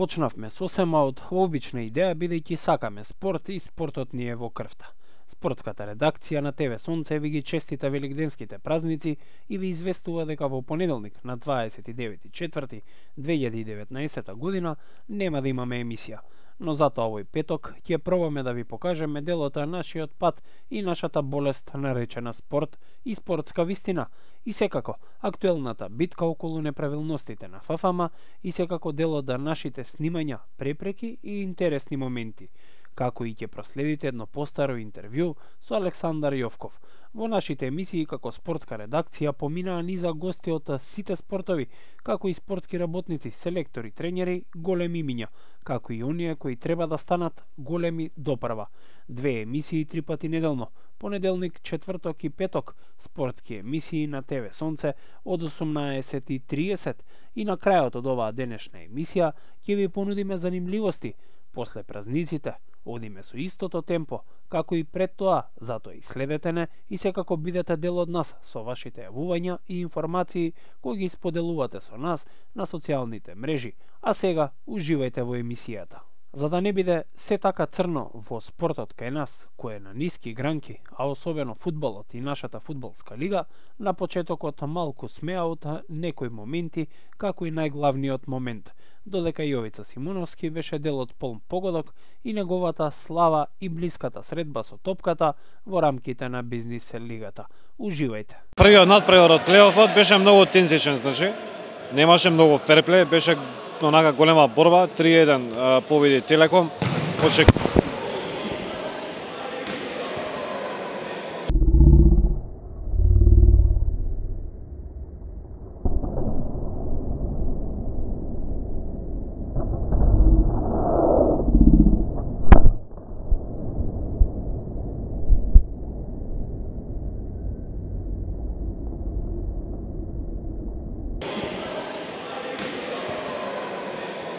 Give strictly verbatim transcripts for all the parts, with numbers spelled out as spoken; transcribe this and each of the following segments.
Почнавме сосема од обична идеја, бидејќи сакаме спорт и спортот ни е во крвта. Спортската редакција на ТВ Сонце ви ги честита великденските празници и ви известува дека во понеделник на дваесет и девети четврти две илјади и деветнаесетта година нема да имаме емисија, но затоа овој петок ќе пробаме да ви покажеме делот на нашиот пат и нашата болест наречена спорт и спортска вистина, и секако актуелната битка околу неправилностите на ФАФАМА и секако делот на нашите снимања, препреки и интересни моменти, како и ќе проследите едно постаро интервју со Александар Јовков. Во нашите емисии како спортска редакција поминаа низа гости од сите спортови, како и спортски работници, селектори, тренери, големи имиња, како и оние кои треба да станат големи допрва. Две емисии три пати неделно, понеделник, четврток и петок, спортски емисии на ТВ Сонце од осумнаесет и триесет и на крајот од оваа денешна емисија ќе ви понудиме занимливости. После празниците одиме со истото темпо, како и пред тоа, затоа и следете не и секако бидете дел од нас со вашите јавувања и информации кои ги споделувате со нас на социјалните мрежи, а сега уживајте во емисијата. За да не биде се така црно во спортот кај нас, кој е на ниски гранки, а особено фудбалот и нашата фудбалска лига, на почетокот малку смеа од некои моменти, како и најглавниот момент, додека Јовица Симуновски беше дел од полн погодок и неговата слава и блиската средба со топката во рамките на бизнис лигата. Уживајте. Првиот надпревар од плейофот беше многу тензичен, значи немаше многу ферплей, беше онака голема борба, три еден победи Телеком. Очек...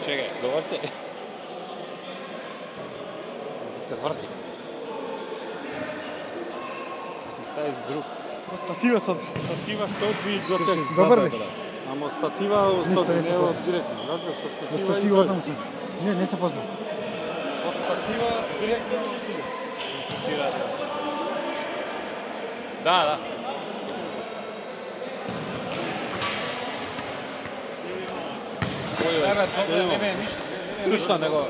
Чекај, добар се. Се врти. Се ставиш друг. Статива со Статива се одби до тек. Добар ли си? Ама статива со не од директно. Разбираш, со статива. Статива одам се. Не, не се познам. Од статива директно. Да, да. Не, не, не, ништо. Ништо него.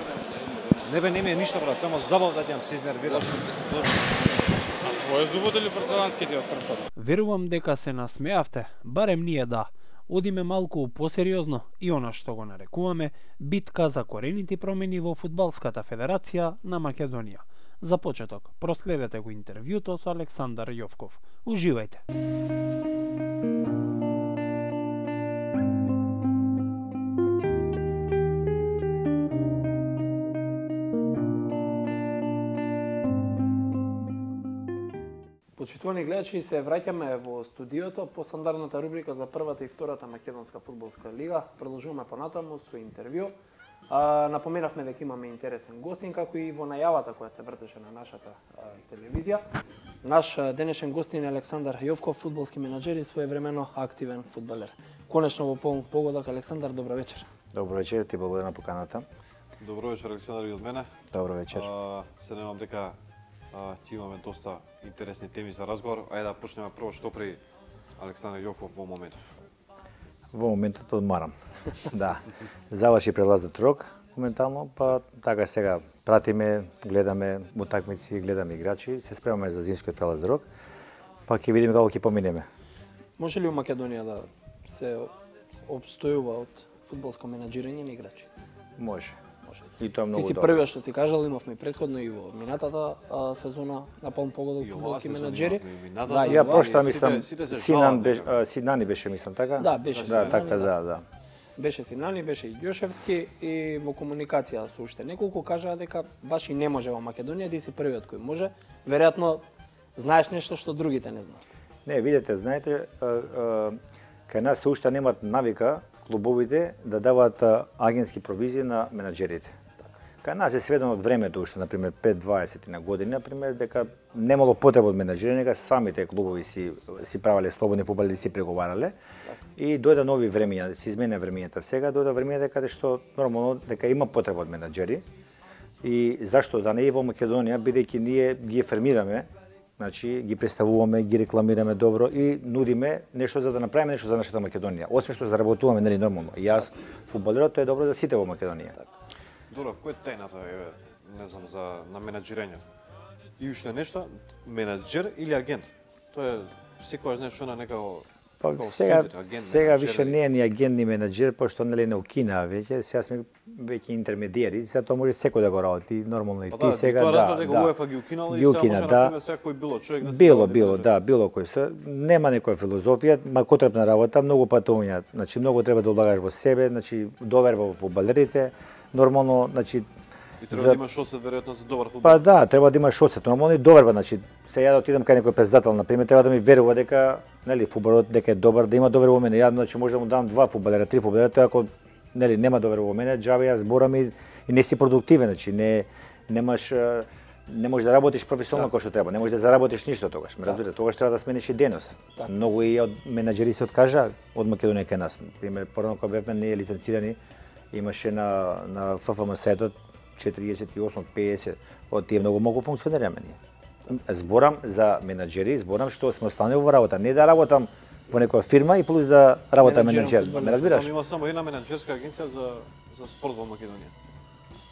Не бе, не ми е ништо, брат, само забав да ќе се изнервираш. А твој зубот или порцеланските од прв пат? Верувам дека се насмеавте, барем ние да. Одиме малку посериозно и она што го нарекуваме битка за корените промени во Фудбалската федерација на Македонија. За почеток, проследете го интервјуто со Александар Јовков. Уживајте. Почитувани гледачи, се враќаме во студиото по стандардната рубрика за првата и втората македонска фудбалска лига. Продолжуваме понатаму со интервју. А, напоменавме дека имаме интересен гостин, како и во најавата која се вртеше на нашата а, телевизија. Наш а, денешен гостин е Александар Јовков, фудбалски менаџер и своевремено активен фудбалер. Конечно во полн погодок, Александар, добро вечер. Добро вечер, ти благодарам на поканата. Добро вечер, Александар, и од мене. Добро вечер. А, се немам дека а, ти имаме доста интересни теми за разговор. Ајде да почнеме прво што при Александар Јовков во моментов. Во моментот одмарам. Да. Заврши прелазот рок моментално, па така сега пратиме, гледаме утакмици, гледаме играчи, се спремаме за зимскиот прелаз рок, па ќе видиме како ќе поминеме. Може ли у Македонија да се обстојува од фудбалско менаџирање на играчи? Може. Може. И тоа е многу Ти си добро. првиот што си кажал, имавме предходно и во минатата а, сезона на полн погодок фудбалски менаџери. Да, Ја прошта сите- мислам сите се Синан жалат, беше, дека- а, Синани беше мислам така? Да, беше Да, Синани, така да. да, да. Беше Синани, беше и Ѓошевски и во комуникација со уште неколку кажаа дека баш и не може во Македонија, ти си првиот кој може. Веројатно знаеш нешто што другите не знаат. Не, видете, знаете, а, а, кај нас се уште немат навика клубовите да даваат а, агентски провизии на менаџерите. Кај нас е сведено од времето уште, например, пет дваесет на години, например, дека немало потреба од менаџери, нека самите клубови си си правеле слободни фудбали, си преговарале. И дојде нови времења, се измене времењата сега, дојде времењата каде што нормално дека има потреба од менаџери. И зашто да не е во Македонија, бидејќи ние ги формираме, значи ги представуваме, ги рекламираме добро и нудиме нешто за да направиме нешто за нашата Македонија. Освен што заработуваме, нели нормално. И јас фудбалерот тоа е добро за сите во Македонија. Добро, кој е тајната е, не знам, за на менаџирање? И уште нешто, менаџер или агент? Тоа е секогаш нешто на некако. Па сега сега више не е ни агент ни менаџер, пошто нели не укина веќе, сега сме веќе интермедиери, сега тоа може секој да го работи, нормално и ти да, сега тоа да. разбрав дека УЕФА ги укинала и сега може да секој било човек да се било било да, било кој се нема некоја филозофија, макотребна работа, многу патувања, значи многу треба да улагаш во себе, значи доверба во фудбалерите, нормално, значи и треба да имаш осет веројатно за добар фудбал. Па да, треба да имаш осет, нормално и доверба, значи сега да отидам кај некој председател, на пример, треба да ми верува дека нели фудбалот дека е добар, да има доверба во мене. Ја значи може да му дам два фудбалера, три фудбалера, тоа ако нели нема доверба во мене, џабе јас зборам и, и не си продуктивен, значи не немаш не можеш да работиш професионално како што треба, не можеш да заработиш ништо тогаш. Ме разбирате, тогаш треба да смениш и денос. Так. Многу и од менаџери се откажа од Македонија кај нас. Пример, порано кога бевме не лиценцирани, имаше на на ФФМ сајтот четириесет и осум пеесет од тие многу многу функционираме ние. Зборам за менаџери, зборам што сме останали во работа, не да работам во некоја фирма и плюс да работам менаџер. Ме разбираш? Има само една менаџерска агенција за за спорт во Македонија.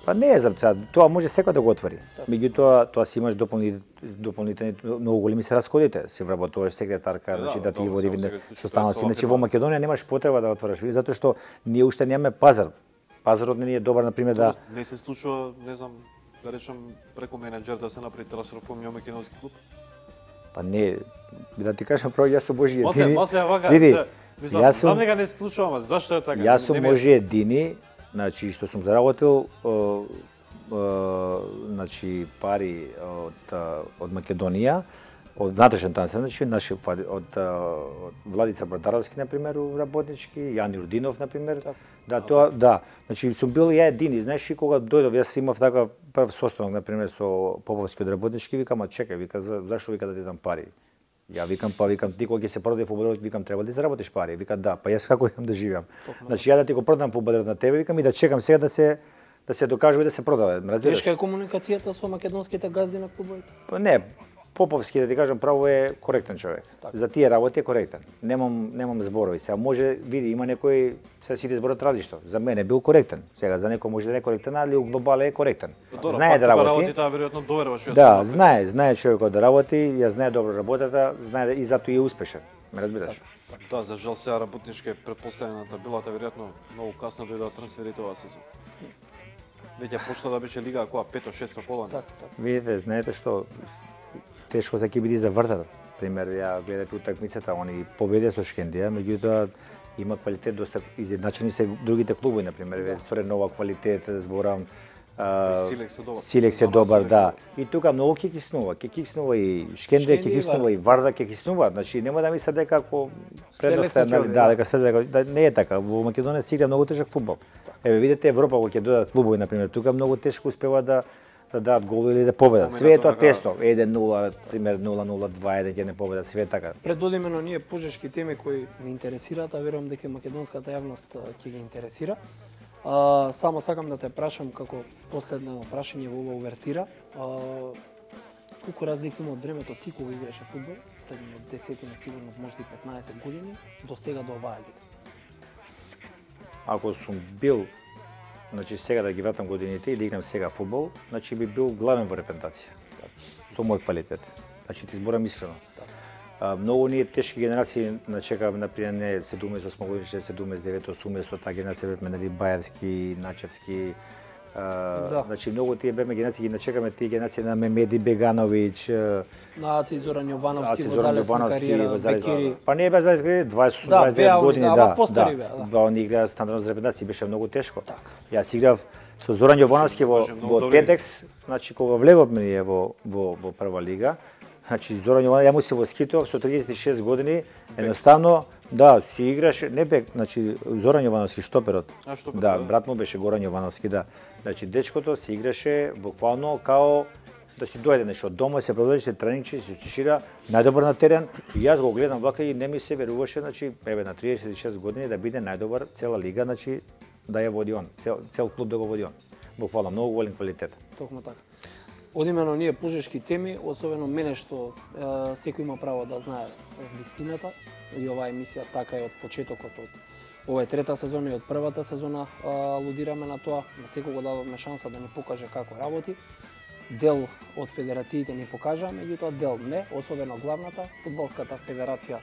Па не е за тоа, може секој да го отвори. Меѓутоа, тоа си имаш дополнителни дополнителни многу големи се расходите, се вработуваш секретарка, значи да ти води со станоци. Значи во Македонија немаш потреба да отвориш, затоа што ние уште немаме пазар. Пазарот не е добар, например, да не се случува, не знам, да речем преку менаџер да се направи трансфер во македонски клуб. Па не, да ти кажам право, јас сум Божи едини. Масе, масе, вака. Види, јас сум дека не се случува, ама зашто е така? Јас сум Божи едини, значи што сум заработил значи пари од од Македонија, од внатрешен трансфер, значи наши од, од Владица Брадаровски на пример работнички, Јан Јурдинов на пример. Да, тоа да. Значи сум бил ја едини, знаеш, и кога дојдов јас имав така прв состанок на пример со Поповски од работнички, викам, а чекај, вика, за, зашто вика да ти дам пари? Ја викам, па викам, ти кога ќе се продаде фудбалерот, викам, треба да заработиш пари. Вика, да, па јас како имам да живеам. Значи ја да ти го продам фудбалерот на тебе, викам и да чекам сега да се да се докажува и да се продава. Тешка е комуникацијата со македонските газди на клубовите? Па не, Поповски, да ти кажам право, е коректен човек. Так. За тие работи е коректен. Немам немам зборови. Сега може види има некој се сите зборат различно. За мене бил коректен. Сега за некој може да не е коректен, али у глобала е коректен. Добро, знае да работи. работи таа веројатно доверба што Да, знае, знае човекот да работи, ја знае добро работата, знае и затоа е успешен. Ме разбираш? Да, за жал сега работничка е претпоставената билата веројатно многу касно дојдоа трансферите оваа сезон. Веќе почна да беше лига која пето-шесто коло. Так, так. Видите, знаете што тешко се ќе биде за вртата. Пример, ја гледав утакмицата, они победија со Шкендија, меѓутоа има квалитет доста изедначени се другите клубови, на пример, да. Соре нова квалитет, зборам, Силекс е добар. Силекс е добар, да. И тука многу ќе киснува, ќе киснува и Шкендија, ќе киснува и Варда, ќе киснува. Значи нема да мислат дека ако предноста да, дека следе да не е така. Во Македонија се игра многу тежок фудбал. Еве видите Европа кога ќе дојдат клубови, на пример, тука многу тешко успева да да дадат гол или да победат. Све е тоа тесно. еден нула, пример нула нула два еден ќе не победат, све е така. Предодиме на ние пожешки теми кои не интересираат, а верувам дека македонската јавност ќе ги интересира. А, само сакам да те прашам како последно прашање во ова увертира. А, колку разлика има од времето ти кога играше фудбал, пред десетина сигурно, можда и петнаесет години, до сега до оваа лига? Ако сум бил, значи сега да ги вратам годините и да играм сега фудбал, значи би бил главен во репрезентација. Со мој квалитет. Значи ти зборам искрено. А, многу ние тешки генерации начекавме, например, не седумдесет и осма годишни, седумдесет и девета, осумдесет, таа генерација бевме, нели, Бајарски, Начевски, а, да. Значи многу тие бевме генерации, ги начекаме тие генерации на Мемеди Бегановиќ, на Аци Зоран Јовановски, во залесна кариера, Бекири. Па не бе залесна кариера, дваесет дваесет и девет години, да, да. Да, они играа стандардно за репрезентација, беше многу тешко. Јас играв со Зоран Јовановски во во Тетекс, значи кога влеговме ние во во во прва лига. Значи Зоран Јовановски, ја му се восхитував со триесет и шест години, едноставно Да, си играше, не бе, значи Зоран Јовановски штоперот. А штоперот, Да, да. брат му беше Горан Јовановски, да. Значи дечкото си играше буквално као да си дојде нешто од дома, се продолжи, се треничи, се тишира, најдобар на терен. И јас го гледам вака и не ми се веруваше, значи, еве на триесет и шест години да биде најдобар цела лига, значи да ја води он, цел, цел клуб да го води он. Буквално многу голем квалитет. Токму така. Одимено ние пужешки теми, особено мене што е, секој има право да знае вистината. И оваа емисија така е од почетокот, од ова е трета сезона и од првата сезона алудираме на тоа. На секого дадовме шанса да ни покаже како работи. Дел од федерациите ни покажа, меѓутоа дел не, особено главната, Фудбалската федерација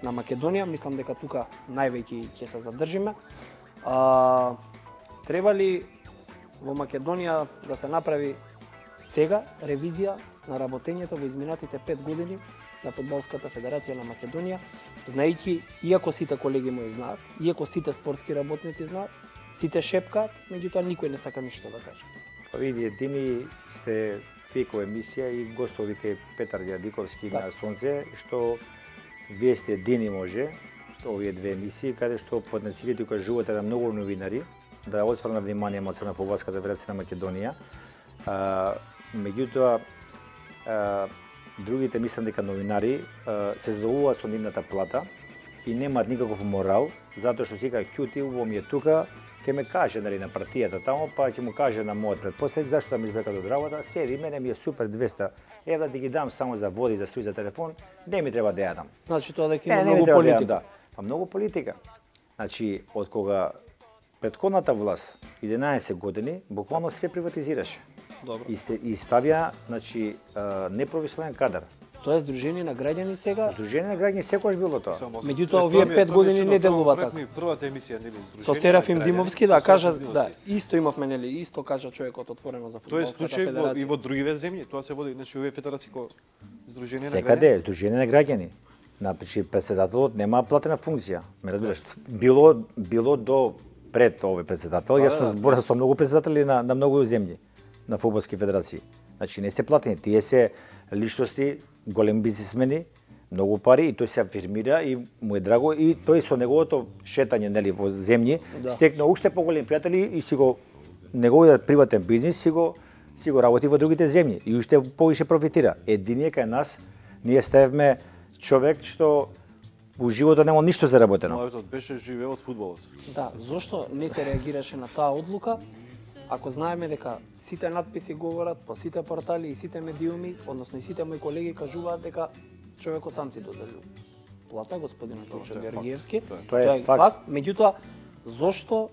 на Македонија. Мислам дека тука највеќе ќе се задржиме. А, треба ли во Македонија да се направи сега ревизија на работењето во изминатите пет години на Фудбалската федерација на Македонија, знаејќи, иако сите колеги мои знаат, иако сите спортски работници знаат, сите шепкаат, меѓутоа никој не сака ништо да каже. Па види, едини сте фико емисија и гостов вика Петар Дјадиковски Да. на Сонце, што вие сте едини може, овие две емисии, каде што потенцијалите кои кажувате на многу новинари, да осврна внимание од на Фудбалската федерација на Македонија. А, меѓутоа, а, другите мислам дека новинари а, се задоволуваат со нивната плата и немаат никаков морал, затоа што сега ќути, убаво ми е тука, ќе ме каже нали, на партијата тамо, па ќе му каже на мојот предпоследник зашто да ми избекат од работа, седи, мене ми е супер двеста евра да ги дам само за води, за струја, за телефон, не ми треба да ја дам. Значи тоа дека Не, има не ми многу треба да ја дам, политика. да. Па многу политика. Значи, од кога претходната власт, единаесет години, буквално све приватизираше. Добро. И, сте, и ставија, значи, а, непрофесионален кадар. Тоа е Сдружение на граѓани сега, Сдружение на граѓани секогаш било тоа. Меѓутоа, овие пет години не делува така. Првата емисија нели Сдружение. со Серафим на граѓани, Димовски, со да, Серафим кажа, Димовски. да, исто имавме, нели, исто кажа човекот отворено за Тоа е Фудбалската случај во, и федерација. во другиве земји, тоа се води, значи овие федерации кои Сдружение на граѓани. Секаде, Сдружение на граѓани. Значи, председателот нема платена функција. Ме разбираш, било било до пред овој председател, јас сум зборал со многу председатели на на многу земји на фудбалски федерации. Значи не се платени, тие се личности, големи бизнисмени, многу пари и тој се афирмира и му е драго и тој со неговото шетање нели во земји Да. стекна уште поголеми пријатели и си го неговиот приватен бизнис си го си го работи во другите земји и уште повише профитира. Единиот кај нас ние ставевме човек што во животот нема ништо заработено. Мојот беше живеел од фудбалот. Да, зошто не се реагираше на таа одлука, ако знаеме дека сите надписи говорат по сите портали и сите медиуми, односно и сите мои колеги кажуваат дека човекот сам си доделил плата, господинот Тошо Георгиевски. Тоа е факт. Меѓутоа, зошто,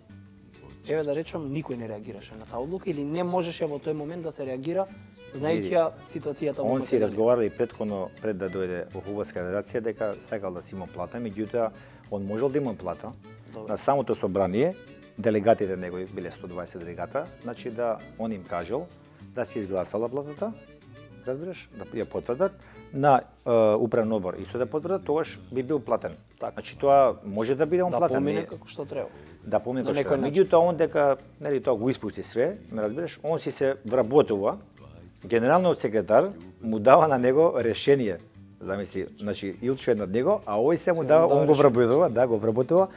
еве да речам, никој не реагираше на таа одлука или не можеше во тој момент да се реагира, знаејќи ја ситуацијата во Он си Македонија? разговарал и претходно пред да дојде во Фудбалска федерација дека сакал да си има плата, меѓутоа он можел да има плата. Добро. На самото собрание делегатите негови биле сто дваесет делегата, значи да он им кажал да се изгласала платата, разбираш, да ја потврдат на е, управен одбор исто да потврдат, тогаш би бил платен. Така. Значи тоа може да биде он Да платен. помине не- како што треба. Да помине На како што. некој е. начин. Меѓутоа он дека нели тоа го испусти све, ме разбираш, он си се вработува. Генералниот секретар му дава на него решение. Замисли, значи Илчо е над него, а овој се му Се дава, му дава он го решение. вработува, да, го вработува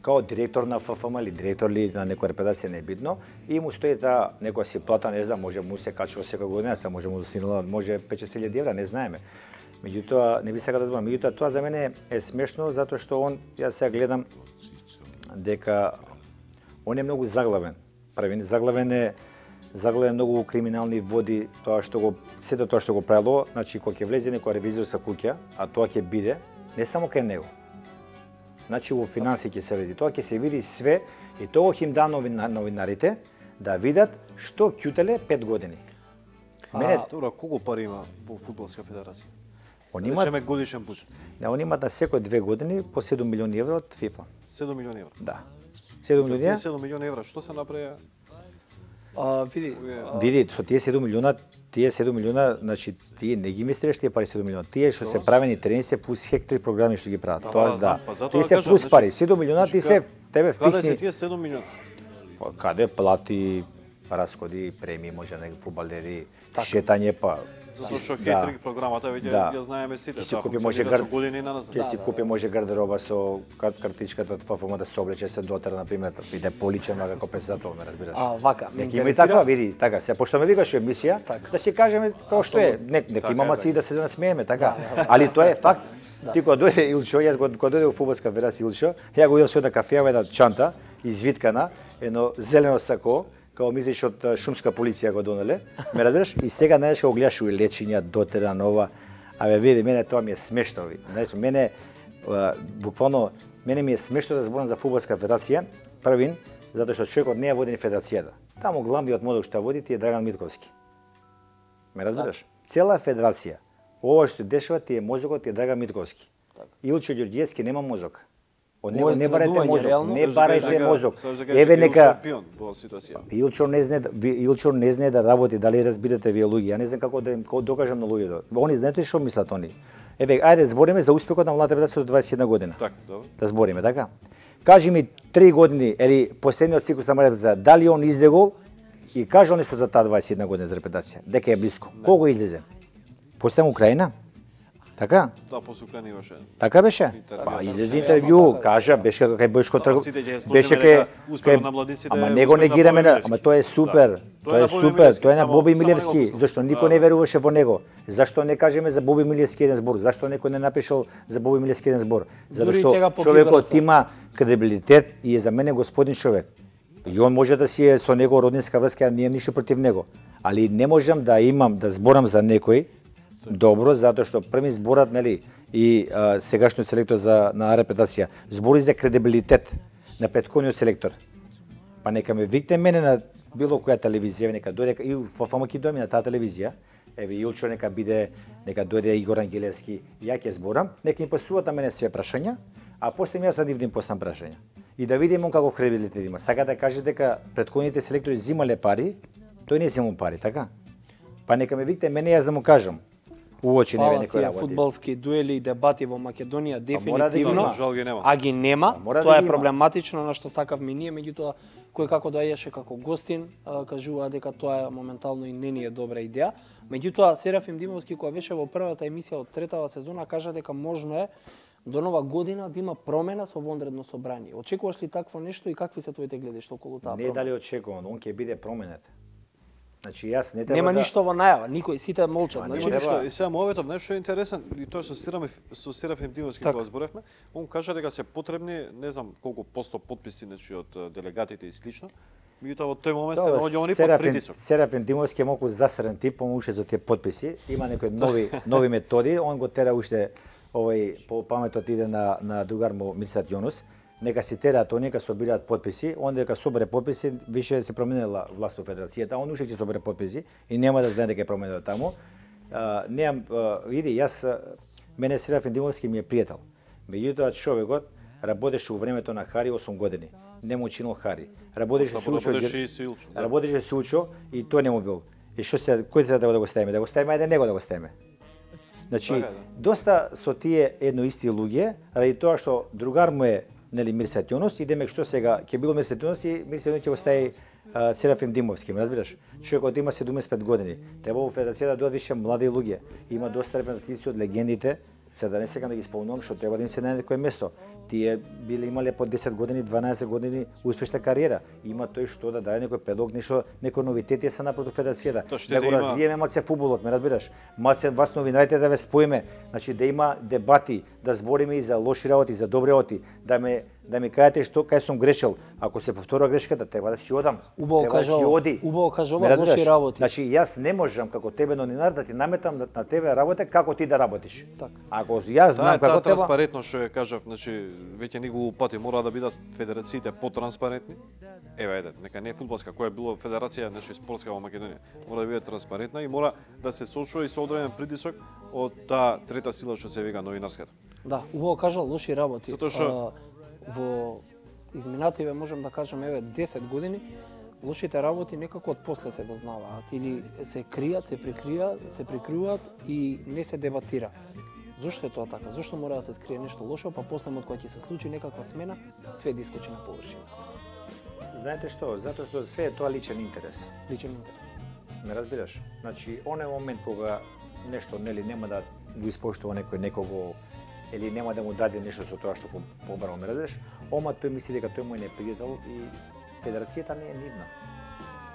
као директор на ФФМ или директор ли на некоја репетација не е битно и му стои таа некоја си плата, не знам, може му се качува секоја година, се може му засинала, може пет-шест илјади евра, не знаеме. Меѓутоа, не би сакал да зборам, меѓутоа тоа за мене е смешно затоа што он, јас сега гледам дека он е многу заглавен. Прави заглавен е заглавен многу во криминални води, тоа што го сето тоа што го правило, значи кога ќе влезе некоја ревизорска куќа, а тоа ќе биде не само кај него. Значи во финанси ќе се види, тоа ќе се види све и тоа ќе им да новина, новинарите да видат што ќутеле пет години. Мене А, добро, колку пари има во фудбалска федерација? он Речеме имаат, годишен буџет. не, он имаат на секој две години по седум милиони евра од ФИФА. седум милиони евра. Да. седум За милиони. тие седум милиони евра, што се направи? А, види, а, Види, со тие седум милиона, тие седум милиона, значи тие не ги инвестираш тие пари седум милиона. Тие што се правени трени се плюс хектари програми што ги прават. Тоа да. знам, па затоа Тие се кажам, плюс значи, пари. седум милиона ти значи, се тебе Каде се фиксни. тие седум милиони? Па, Каде плати, расходи, премии, може на фудбалери, шетање па Затоа што Да. хейтринг програмата веќе Да. ја знаеме сите, Ќе си тоа купи може функционира со гар- години на назад. Ќе си купи може гардероба со кар- картичката од ФФМ да се облече се дотера на пример, биде поличен како председател, ме разбираш. А, вака, ме Нека има и интересира. таква, види, така, се пошто ме викаш во емисија, да си кажеме тоа што е. Нек, нека Така има е, маци така. да се насмееме, така. Али тоа е факт. Ти кога дојде Илчо, јас кога кога дојде во фудбалска федерација Илчо, ја го видов со една кафеа, една чанта, извиткана, едно зелено сако, као мислиш од а, шумска полиција го донеле, ме разбираш? И сега најдеш го гледаш и лечиња, дотера нова. Абе види, мене тоа ми е смешно, ви. Знаеш, мене а, буквално мене ми е смешно да зборам за фудбалска федерација, првин, затоа што човекот не ја води ни федерацијата. Таму главниот мозок што ја води ти е Драган Митковски. Ме разбираш? Цела федерација, ова што се дешава ти е мозокот ти е Драган Митковски. Илчо Ѓорѓиевски нема мозок. Од него Моје не барајте изненадување, мозок, реално. не барајте мозок. Еве Еве нека шампион во ситуација. Илчо не знае, да- ви- Илчо не знае да работи, дали разбирате вие луѓе. Ја не знам како да им како докажам на луѓето. Они знаете што мислат они. Еве, ајде збориме за успехот на младата федерација до дваесет и една година. Така, добро. Да збориме, така? Кажи ми три години или последниот циклус на младата федерација, дали он излегол и кажа нешто за таа дваесет и една година за репетација, дека е блиско. Кого излезе? После Украина? Така? Да, после Украина имаше. Така беше? Интервју. Па излезе интервју, кажа, беше кај Бојшко Да, Тргов. сите ќе сложиме Беше дека кај успехот кај- на младиците Ама е него успех не на гираме Боби на, Милевски. ама тоа е супер. Да. Тоа е на Боби супер, Милевски, тоа е на само- Боби само Милевски, него зашто послушам. никој Да. не веруваше во него. Зашто не кажеме за Боби Милевски еден збор? Зашто некој не напишал за Боби Милевски еден збор? Затоа Дури и што сега по човекот Киберса. има кредибилитет и е за мене господин човек. И он може да си е со него роднинска врска, ние ништо против него. Али не можам да имам да зборам за некој добро, затоа што први зборат, нели, и а, сегашниот селектор за на репетација збори за кредибилитет на претходниот селектор. Па нека ме викне мене на било која телевизија, нека дојде и во ФМК дојме на таа телевизија. Еве Илчо нека биде, нека дојде Игор Ангелевски, ја ќе зборам, нека им постуваат на мене све прашања, а после јас да нивни постам прашања. И да видиме он каков кредибилитет има. Сака да каже дека претходните селектори земале пари, тој не земал пари, така? Па нека ме викне мене јас да му кажам. Уочи не Фала некој тие работи. фудбалски дуели и дебати во Македонија мора да ги дефинитивно, има. Жал ги нема. а ги нема. мора да Тоа ги е има. проблематично на што сакавме ние, меѓутоа кој како доаѓаше како гостин, а, кажува дека тоа е моментално и не ни е добра идеја. Меѓутоа Серафим Димовски која беше во првата емисија од третава сезона кажа дека можно е до нова година да има промена со вонредно собрание. Очекуваш ли такво нешто и какви се твоите гледишта околу таа Не промена? дали очекувам, он ќе биде променет. Значи јас не треба Нема да... ништо во најава, никој сите молчат. Па, Значи, нема Ништо, треба. и сега моветот нешто е интересен, и тоа со Серафим со Серафим Димовски Така. кога зборевме, он кажа дека се потребни, не знам колку посто потписи значи од е, делегатите и слично. Меѓутоа во тој момент се Добро, наоѓа они под Серафим, притисок. Серафим Димовски е малку засрен тип, он уште за тие потписи. Има некои нови нови методи, он го тера уште овој по паметот иде на на другар му Мирсат Јонус. Нека си тераат, нека собираат потписи, он дека собере потписи, више се променила власт во федерацијата, он уште ќе собере потписи и нема да знае дека е променено таму. А, немам, а, види, јас а, мене Серафим Димовски ми е пријател. Меѓутоа човекот работеше во времето на Хари осум години. Не му чинил Хари. Работеше со Учо. Работеше и со Илчо, да. Работеше со Учо и тој не му бил. И што се кој се да го ставиме? Да го ставиме, ајде него да го ставиме. Значи, Така е, да. доста со тие едно исти луѓе, ради тоа што другар му е нели Мирсат Јонус и демек што сега ќе било Мирсат Јонус и Мирсат Јонус ќе го стави а, Серафим Димовски, ме разбираш? Човекот има седумдесет и пет години. Треба во федерацијата да дојдат више млади луѓе. Има доста репрезентативци од легендите, се да не сакам да ги спомнувам, што треба да им се најде некое место. Тие биле имале по десет години, дванаесет години успешна кариера. Има тој што да даде некој предлог, нешто, некој новитети се направи во федерацијата. Тоа ще Да да го има- развиеме малце фудбалот, ме разбираш? Малце вас новинарите да ве споиме, значи да има дебати, да збориме и за лоши работи, и за добри работи, да ме да ми кажете што кај сум грешил. Ако се повторува грешката, треба да си одам. Убаво Треба да кажа си ова. оди. Убаво кажа ова, Ме разбираш? лоши работи. Значи јас не можам како тебе новинар да ти наметам на, на тебе работа како ти да работиш. Така. Ако јас Таа знам е таа како треба, транспарентност што ја кажав, значи веќе неколку пати мора да бидат федерациите потранспарентни. Еве, ајде, нека не е фудбалска, која е било федерација, значи спортска во Македонија, мора да биде транспарентна и мора да се сочува и со одреден притисок од таа трета сила што се вика новинарската. Да, убаво кажа лоши работи. Затоа што- А, во изминативе можам да кажам еве десет години лошите работи некако од после се дознаваат или се кријат, се прикријат, се прикриваат и не се дебатира. Зошто е тоа така? Зошто мора да се скрие нешто лошо, па после од кога ќе се случи некаква смена, све да искочи на површина. знаете што, затоа што све е тоа личен интерес. Личен интерес. Ме разбираш? Значи, оној момент кога нешто нели нема да го испоштува некој некого или нема да му даде нешто со тоа што побарал ме разумеш, ома тој мисли дека тој му е непријател и федерацијата не е нивна.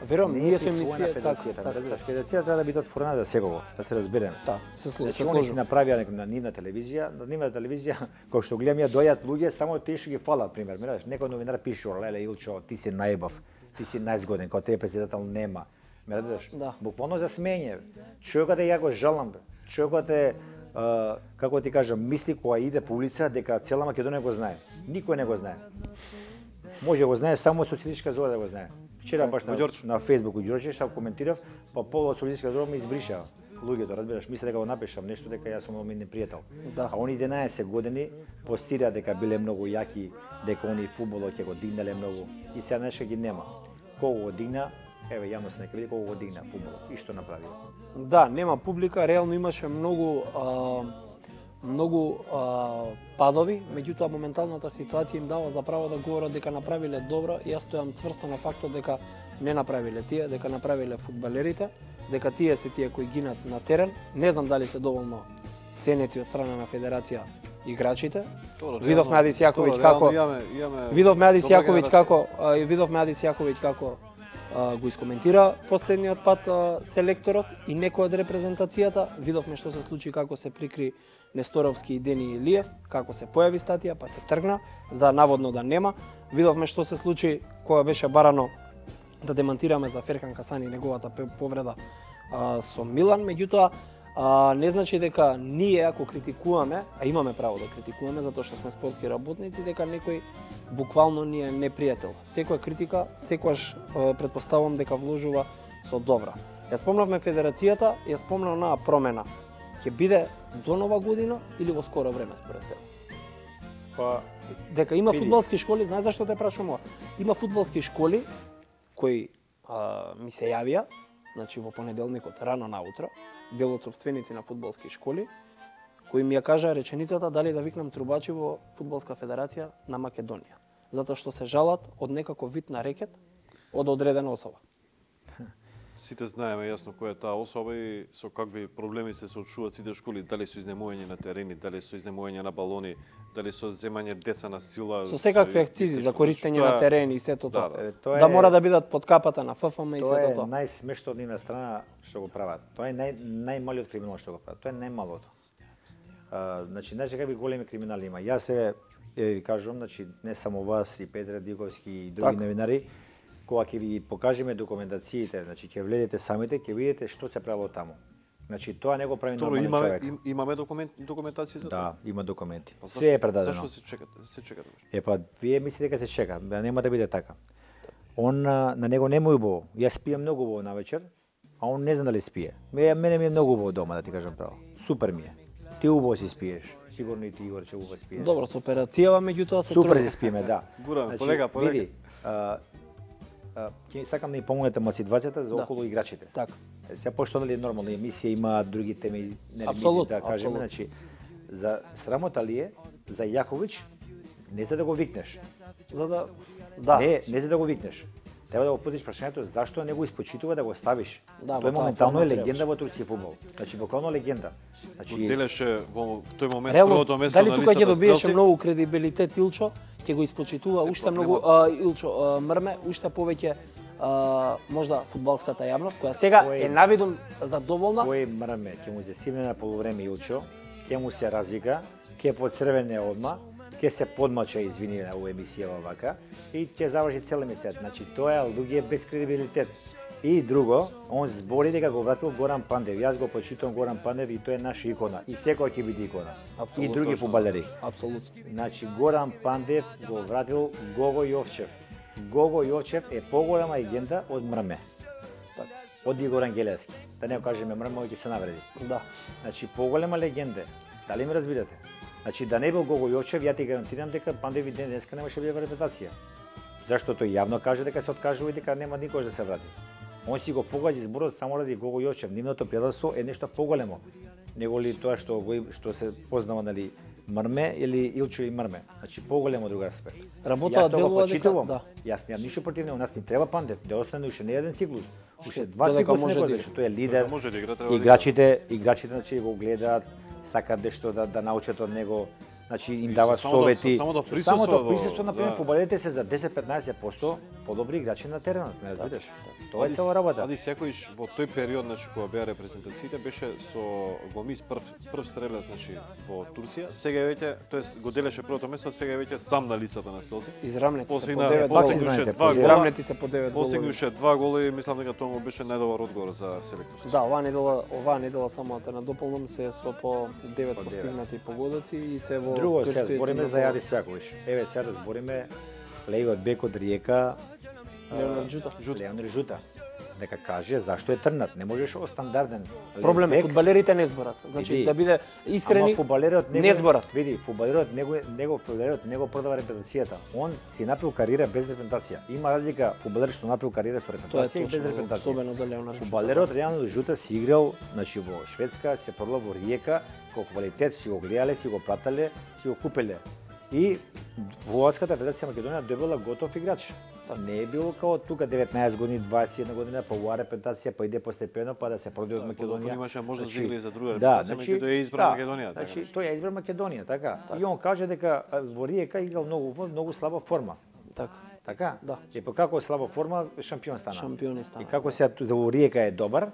Верувам, Не е ние сме присвоена мисија така, федерацијата, така, разбираш, така. федерацијата треба да биде отворена за секого, да се разбереме. Да, се служи, Значи, се они си служи. направија некој на нивна телевизија, на нивна телевизија, кој што гледам ја доаѓаат луѓе, само тие што ги фалат, пример, мераш, некој новинар пише, леле Илчо, ти си најбав, ти си најзгоден, кога тебе председател нема. Ме разбираш? Да. Буквално за смење. Човекот е ја го жалам, бе. Човекот е Uh, како ти кажам, мисли кога иде по улица дека цела Македонија го знае. Никој не го знае. Може го знае само социјалистичка зора да го знае. Вчера баш на, на Facebook у Ѓорче што коментирав, па полу од социјалистичка зора ме избриша луѓето, разбираш, мисле дека го напишам нешто дека јас сум ми непријател. Да. А они единаесет години постира дека биле многу јаки, дека они фудбалот ќе го дигнале многу и сега нешто ги нема. Кого го дигна? Еве јавност нека види кого го дигна фудбалот и што направи. Да, нема публика, реално имаше многу а, многу а, падови, меѓутоа моменталната ситуација им дава за право да говорат дека направиле добро. Јас стојам цврсто на фактот дека не направиле тие, дека направиле фудбалерите, дека тие се тие кои гинат на терен. Не знам дали се доволно ценети од страна на федерација играчите. Видовме Адис Јаковиќ како Видовме Адис Јаковиќ како а, видовме Адис Јаковиќ како Uh, го искоментира последниот пат uh, селекторот и некој од репрезентацијата. Видовме што се случи како се прикри Несторовски и Дени Илиев, како се појави статија, па се тргна, за наводно да нема. Видовме што се случи кога беше барано да демантираме за Ферхан Касани и неговата повреда uh, со Милан, меѓутоа uh, не значи дека ние ако критикуваме, а имаме право да критикуваме затоа што сме спортски работници, дека некој буквално ни е непријател. Секоја критика, секогаш претпоставувам дека вложува со добра. Ја спомнавме федерацијата, ја спомнав на промена. Ќе биде до нова година или во скоро време според тебе? Па дека има види. фудбалски школи, знаеш зашто те прашувам ова? Има фудбалски школи кои а, ми се јавија, значи во понеделникот рано наутро, дел од сопственици на фудбалски школи, кои ми ја кажа реченицата дали да викнам трубачи во Фудбалска федерација на Македонија, затоа што се жалат од некаков вид на рекет од одредена особа. Сите знаеме јасно која е таа особа и со какви проблеми се соочуваат сите школи, дали со изнемување на терени, дали со изнемување на балони, дали со земање деца на сила. Со секакви акцизи за користење на терени и сето тоа. Да, Да, тоа да е- мора да бидат под капата на Ф Ф М и Тоа сето е тоа. најсмешно од нивна страна што го прават. Тоа е нај, најмалиот криминал што го прават. Тоа е најмалото. А, значи, знаеш какви големи криминали има. Јас се е, ви кажувам, значи не само вас и Петре Диковски и други Така. новинари, кога ќе ви покажеме документациите, значи ќе влезете самите, ќе видите што се правило таму. Значи тоа не го прави Добро, нормален имаме човек. им, имаме документ документација за тоа. Да, има документи. Па Се е зашто- предадено. Зашто се чекате? Се чекате? Е па вие мислите дека се чека, да нема да биде така. Он на, на него не му е убаво. Јас спијам многу убаво навечер, а он не знам дали спие. Ме, мене ми е многу убаво дома, да ти кажам право. Супер ми е. Ти убаво си спиеш. Сигурно и ти Игор че убаво спиеш. Добро, со операцијава меѓутоа се Супер трудно. си спиеме, да. Гураме, полека, полека. Види, а, а, ќе сакам да ни помогнете на ситуацијата за Да. околу играчите. Така. Е, Сега пошто нали е нормално емисија има други теми, не Апсолутно, да кажеме, апсолутно. значи за срамота ли е за Јаковиќ не за да го викнеш. За да да. Не, не за да го викнеш. Треба да го потиш прашањето зашто не го испочитува да го ставиш. Да, Тој во таа моментално е форма легенда требаше. во турски фудбал. Значи буквално легенда. Значи Делеше во тој момент Реално, првото место дали на тука ќе листата добиеше стрелци. многу кредибилитет Илчо, ќе го испочитува уште многу а, Илчо а, Мрме, уште повеќе а, можда фудбалската јавност која сега Кој- е навидум задоволна. кој мрме ќе му се симне на полувреме Илчо, ќе му се развика, ќе поцрвене одма, ќе се подмача извини на оваа емисија вака и ќе заврши цела емисија. Значи тоа е луѓе без кредибилитет. И друго, он збори дека го вратил Горан Пандев. Јас го почитувам Горан Пандев и тој е наша икона. И секој ќе биде икона. И други фудбалери. Апсолутно. Значи Горан Пандев го вратил Гого Јовчев. Гого Јовчев е поголема легенда од Мрме. Така. Од Игор Ангелевски. Да не го кажеме Мрме, ќе се навреди. Да. Значи поголема легенда. Дали ме разбирате? Значи да не бил Гого Јовчев, ја ти гарантирам дека Пандев и ден денеска немаше бива репутација. Зашто тој јавно каже дека се откажува и дека нема никош да се врати. Он си го погоди зборот само ради Гого Јовчев. Нивното пијателство е нешто поголемо него ли тоа што го им- што се познава нали Мрме или Илчо и Мрме. Значи поголемо друг аспект. Работа делува дека да. Јас немам ништо против него, нас ни треба пандет, да остане уште не еден циклус. Уште два додека циклуса може некој, да што тој е лидер. Може да игра, треба да Играчите, играчите значи го гледаат, сакаат нешто да да научат од него. Значи им дават само да- совети. само да присуствува Самото во- присуство на пример да. фудбалерите се за десет до петнаесет проценти подобри играчи на теренот, ме разбираш? Тоа е цела работа. Ади секојш во тој период, значи кога беа репрезентациите, беше со Гомис прв прв стрелец, значи во Турција. Сега е веќе, тоест го делеше првото место, сега е веќе сам на листата на стрелци. Израмнети се по Постигна девет постигнуше знаете, два по гола. Израмнети се по девет голови. Постигнуше два гола и мислам дека тоа му беше најдобар одговор за селекторот. Да, оваа недела, оваа недела само да надополнам се со по девет По девет. постигнати погодоци и се во Друго, сега турскиот збориме тим за во Јади Свјаковиќ. Еве сега да збориме легот бек од Риека, Леонард Джута. Леонард Жута. Дека каже зашто е трнат, не можеш о стандарден Проблем е бек. фудбалерите не зборат. Значи Види, да биде искрени, Ама фудбалерот него не зборат. Види, фудбалерот него него фудбалерот него продава репрезентацијата. Он си направил кариера без репрезентација. Има разлика фудбалер што направил кариера со Тоа е репрезентација и без точно, репрезентација. особено за Леонард Джута. Фудбалерот реално Жута си играл, значи во Шведска, се продал во Риека, кој квалитет си го гледале, си го пратале, си го купеле. И Фудбалската федерација Македонија добила готов играч. Не е било као тука деветнаесет години, дваесет и една година, па оваа репрезентација, па иде постепено, па да се продаде од Македонија. Имаше можност да игра и за друга да, репрезентација, значи, меѓутоа ја избра да, Македонија, така Значи, нешто. тој ја избра Македонија, така. И он каже дека а, во Риека играл многу во многу слаба форма. Така. Така? Да. И па како е слаба форма, шампион стана. Шампиони стана. И како се за во Риека е добар,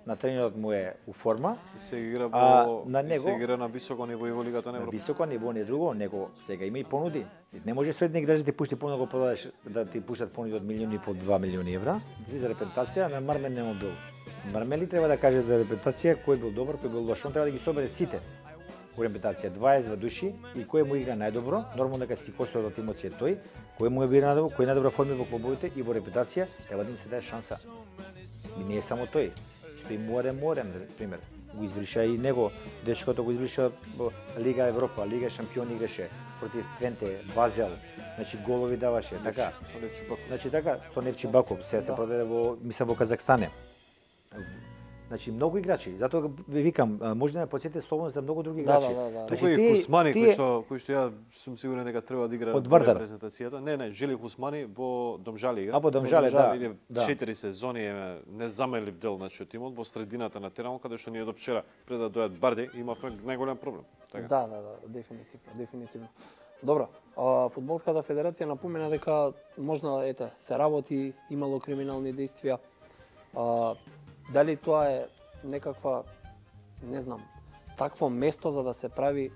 на тренерот му е у форма, И се игра А, во на и него- се игра на високо ниво и во Лигата на на Европа. високо ниво не друго, него сега има и понуди. Не може со еден играч да ти пушти понуди да го продадеш, да ти пуштат понуди од милиони и по два милиони евра. За репрезентација на Мармен нема бил. Мармели треба да каже за репрезентација кој бил добар, кој бил лош. Он треба да ги собере сите. Во репрезентација дваесет души и кој му игра најдобро, нормално дека си костој од тимот си е тој, кој му е бира најдобро, кој најдобро форми во клубовите и во репрезентација треба да му се даде шанса. И не е само тој. Што и Море Море, пример, го избриша и него, дечкото го избриша во Лига Европа, Лига Шампион играше против Твенте, Базел, значи голови даваше, така. Со Левчи Баков. Значи така, со Невчи Баков, сега се продаде во, мислам во Казахстане. Значи многу играчи, затоа ви викам, а, може да ме потсетите слободно за многу други Да, играчи. да, да, да. Значи, Тука и тие- Хусмани тие- кој што кој што ја сум сигурен дека треба да игра Од во Вардар. репрезентацијата. Не, не, Жели Хусмани во Домжали игра. А, во Домжале, да, Иде да. четири сезони е незаменлив дел значи од тимот во средината на теренот каде што ние до вчера пред да дојат Барди имавме најголем проблем. Така. Да, да, да, дефинитивно, дефинитивно. Добро, а, фудбалската федерација напомена дека можна ете се работи, имало криминални действија. А, дали тоа е некаква, не знам, такво место за да се прави,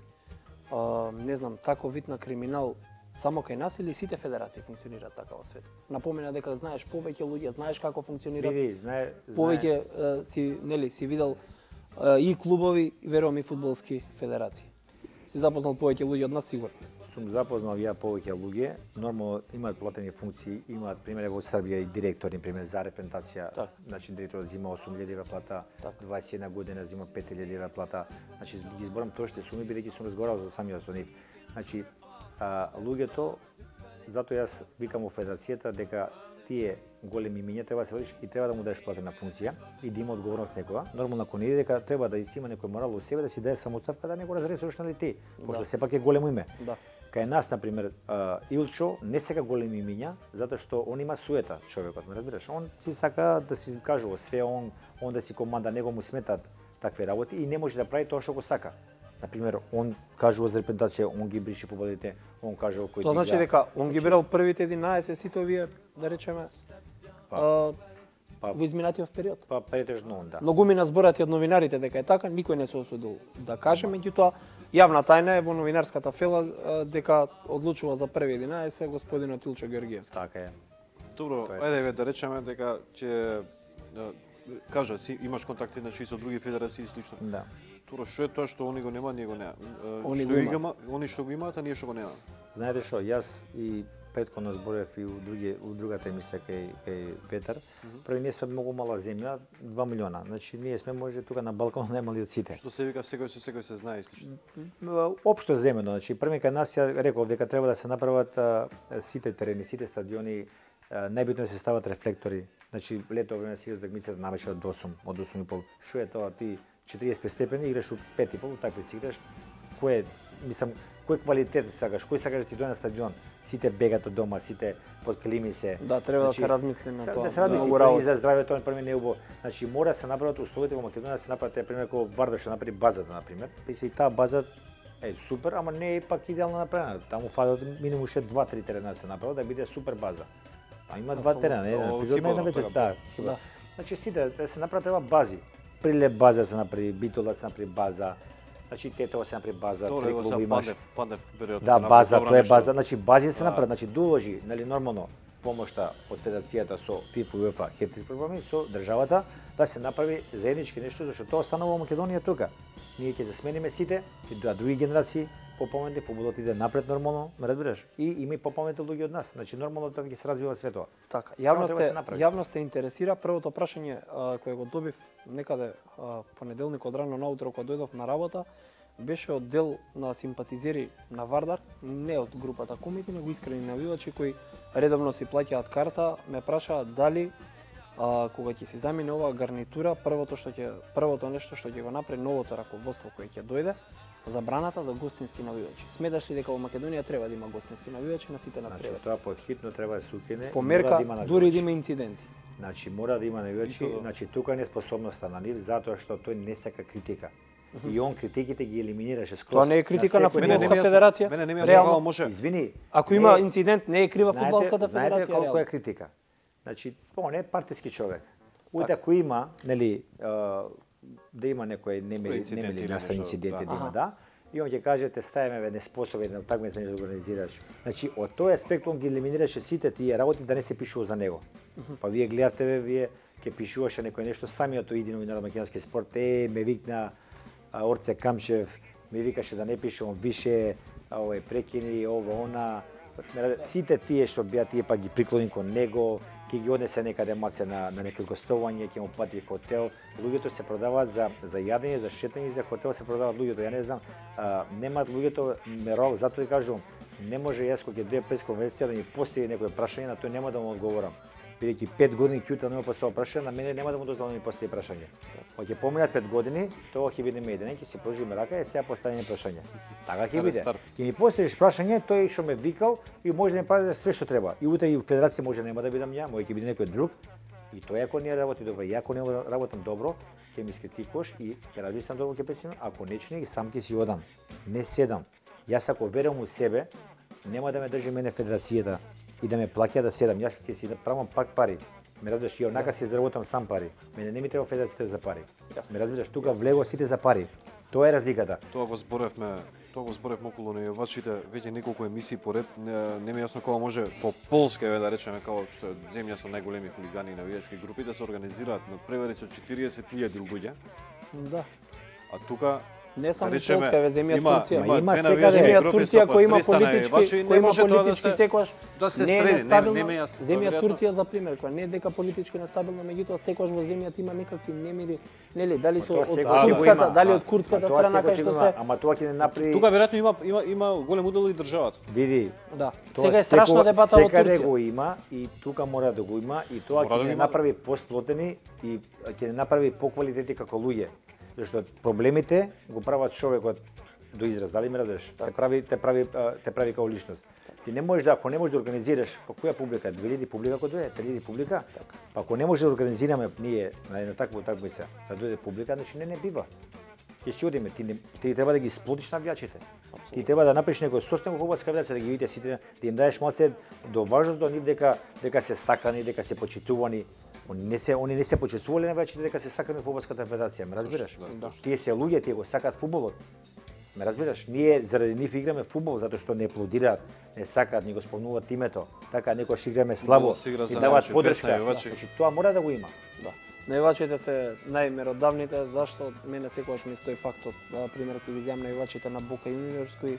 а, не знам, таков вид на криминал само кај нас или сите федерации функционираат така во светот? Напомена дека знаеш повеќе луѓе, знаеш како функционираат, Види, знае, знае, повеќе а, си, нели, си видел а, и клубови, и верувам и фудбалски федерации. Си запознал повеќе луѓе од нас сигурно. сум запознал ја повеќе луѓе, нормално имаат платени функции, имаат пример во Србија и директори, пример за репрезентација, Так. значи директорот зима осум илјади евра плата, Так. дваесет и една година зима пет илјади евра плата. Значи ги зборам точните суми бидејќи сум разговарал со самиот со нив. Значи а, луѓето, затоа јас викам во федерацијата дека тие големи имиња треба да се водиш и треба да му дадеш платена функција и да има одговорност некоја. Нормално ако не иде дека треба да си има некој морал од себе да си даде самоставка да не го разрешиш нали ти, пошто Да. сепак е големо име. Да. Кај нас, например, а, Илчо не сека големи имиња, затоа што он има суета, човекот, ме разбираш? Он си сака да си кажува све, он, он да си команда, него му сметат такви работи и не може да прави тоа што го сака. Например, он кажува за репрезентација, он ги бриши победите, он кажува кој Тоа значи дека он ги бирал првите единаесет сите овие, да речеме, Па, а, па- во изминатиот период. Па претежно он, да. Многумина зборат и од новинарите дека е така, никој не се осудил да каже, меѓутоа јавна тајна е во новинарската фела а, дека одлучува за први единаесет господинот Илчо Георгиевски. Така е. Добро, Тоа е. ајде да речеме дека ќе да, кажа си имаш контакти значи со други федерации и слично. Да. Туро што е тоа што они го немаат, ние го немаме. Они Што го ги имаат. има, они што го имаат, а ние што го немаме. Знаете што, јас и претходно зборев и у други у другата емисија кај кај Петар. Први ние сме многу мала земја, два милиона. Значи ние сме може тука на Балкан најмали од сите. Што се вика секој со секој се знае и слично. Општо земено, значи први кај нас ја реков дека треба да се направат а, сите терени, сите стадиони, а, најбитно е да се стават рефлектори. Значи лето време се игра такмицата навечер од осум, од осум и пол. Што е тоа ти четириесет степени играш у пет и пол, такви си играш. Кој е мислам, кој квалитет сакаш, кој сакаш да ти дојде на стадион, сите бегат од дома, сите под клими се. Да, треба да се размисли на тоа. Да се размисли да, и за здравјето, например, не убаво. Значи мора да се направат условите во Македонија да се направат, например, како Вардар што направи базата, например. И се и таа база е супер, ама не е пак идеално направена. Таму фалат минимум уште два-три терена да се направат да биде супер база. А има два терена, еден епизод на една вечер, да. Да. Значи сите да се направат треба бази. Прилеп база да се направи, Битола да се направи база. Значи Тетово се направи база, три клуби имаш. Пандев, веројатно. Да, база, тоа е база, значи бази се направат, значи доложи, нели нормално помошта од федерацијата со ФИФА и УЕФА хет-трик програми со државата да се направи заеднички нешто зашто тоа станува во Македонија тука. Ние ќе се смениме сите, ќе дојдат други генерации, попоменати, фудбалот иде напред нормално, ме разбираш? И има и попоменати луѓе од нас. Значи нормално тоа ќе се развива све тоа. Така, јавност е, јавност е интересира. Првото прашање а, кое го добив некаде а, понеделникот рано наутро кога дојдов на работа беше од дел на симпатизери на Вардар, не од групата Комити, него искрени навивачи кои редовно си плаќаат карта, ме прашаат дали а, кога ќе се замине оваа гарнитура, првото што ќе првото нешто што ќе го направи новото раководство кое ќе дојде, забраната за гостински навивачи. Сметаш ли дека во Македонија треба да има гостински навивачи на сите надпревари? Значи тоа подхитно треба да се укине. Померка, да дури да има инциденти. Значи мора да има навивачи, значи тука е неспособноста на нив затоа што тој не сака критика. И он критиките ги елиминираше скроз. Тоа не е критика на, на фудбалска федерација. Мене не ми јасно може. Извини. Ако има инцидент, не е крива фудбалската федерација. Знаете колку е критика? Значи, он е партиски човек. Уите ако има, нели, да има некој немели немели настани инциденти да има, да. И он ќе каже те ставиме ве неспособен на такмици да организираш. Значи, од тој аспект он ги елиминираше сите тие работи да не се пишува за него. Па вие гледавте ве, вие ќе пишуваше некој нешто самиот тој иди новинар на македонски спорт, е ме викна Орце Камчев, ми викаше да не пишувам више, овој прекини, ова, она. Сите тие што беа тие па ги приклони кон него, ќе ги однесе некаде маце на на некој гостување, ќе му плати хотел. Луѓето се продаваат за за јадење, за шетање, за хотел се продаваат луѓето. Ја не знам, а, немаат луѓето мерол, затоа и кажувам, не може јас кога ќе дојде пресконференција да ми постави некој прашање, на тој нема да му одговорам. Бидејќи пет години ќута нема поставил прашање, на мене нема да му дозволам да ми постави прашање. Кога ќе поминат пет години, тоа ќе биде меден, ќе се пожиме рака и сега поставиме прашање. Така ќе биде. Ќе ми поставиш прашање, тој што ме викал и може да ми прави све што треба. И утре и федерација може нема да бидам ја, може ќе биде некој друг. И тоа ако не работи добро, и ако не работам добро, ќе ми скритикуваш и ќе размислам добро ќе песим, ако нечне и сам ќе си одам. Не седам. Јас ако верувам у себе, нема да ме држи мене федерацијата и да ме плаќа да седам. Јас ќе си правам пак пари. Ме разбираш, ја онака си заработам сам пари. Мене не ми треба федерацијата за пари. Ме разбираш, тука влего сите за пари. Тоа е разликата. Тоа го зборевме, тоа го зборевме околу навивачите веќе неколку емисии поред. Не, не ми е јасно кога може по Полска да речеме како што е земја со најголеми хулигани и навивачки групи да се организираат надпревари со четириесет илјади луѓе. Да. А тука не само речеме, Полска, е земја има, Турција. Има, има секаде земја Турција кој има политички, кој има политички да секогаш да се не е стрени, нестабилна. не, не јасно, земја веројатно. Турција за пример, која не е дека политички нестабилна, меѓутоа секогаш во земјата има некакви немири, нели, дали со од курдската, дали од курдската страна кај што се. Ама тоа ќе не направи. Тука веројатно има има има голем удел и државата. Види. Да. Сега е страшна дебата во Секаде Турција. го има и тука мора да го има и тоа Мора ќе да не има. направи посплотени и ќе не направи поквалитети како луѓе. Зашто проблемите го прават човекот до израз, дали ме разбираш? Те прави те прави те прави како личност. Ти не можеш да ако не можеш да организираш, па која публика, две илјади публика кој дојде, три илјади публика. Па ако не можеш да организираме ние на една таква такмица, да дојде публика, значи не не бива. Ќе си одиме, ти не, ти треба да ги сплотиш навијачите. Ти треба да направиш некој состав во фудбалска федерација да ги видите сите, да им даеш малце до важност до нив дека дека се сакани, дека се почитувани. Они не се они не се почитувале навијачите дека се сакани во фудбалската федерација, ме разбираш? Да. Тие се луѓе, тие го сакаат фудбалот. Ме разбираш? Ние заради нив играме фудбал затоа што не аплодираат, не сакаат, ни го спомнуваат името. Така некогаш играме слабо и даваат подршка. Значи тоа мора да го има. Да. Наивачите се најмеродавните, зашто мене секогаш ми стои фактот, пример ќе ги земам наивачите на Бока Јуниорс кои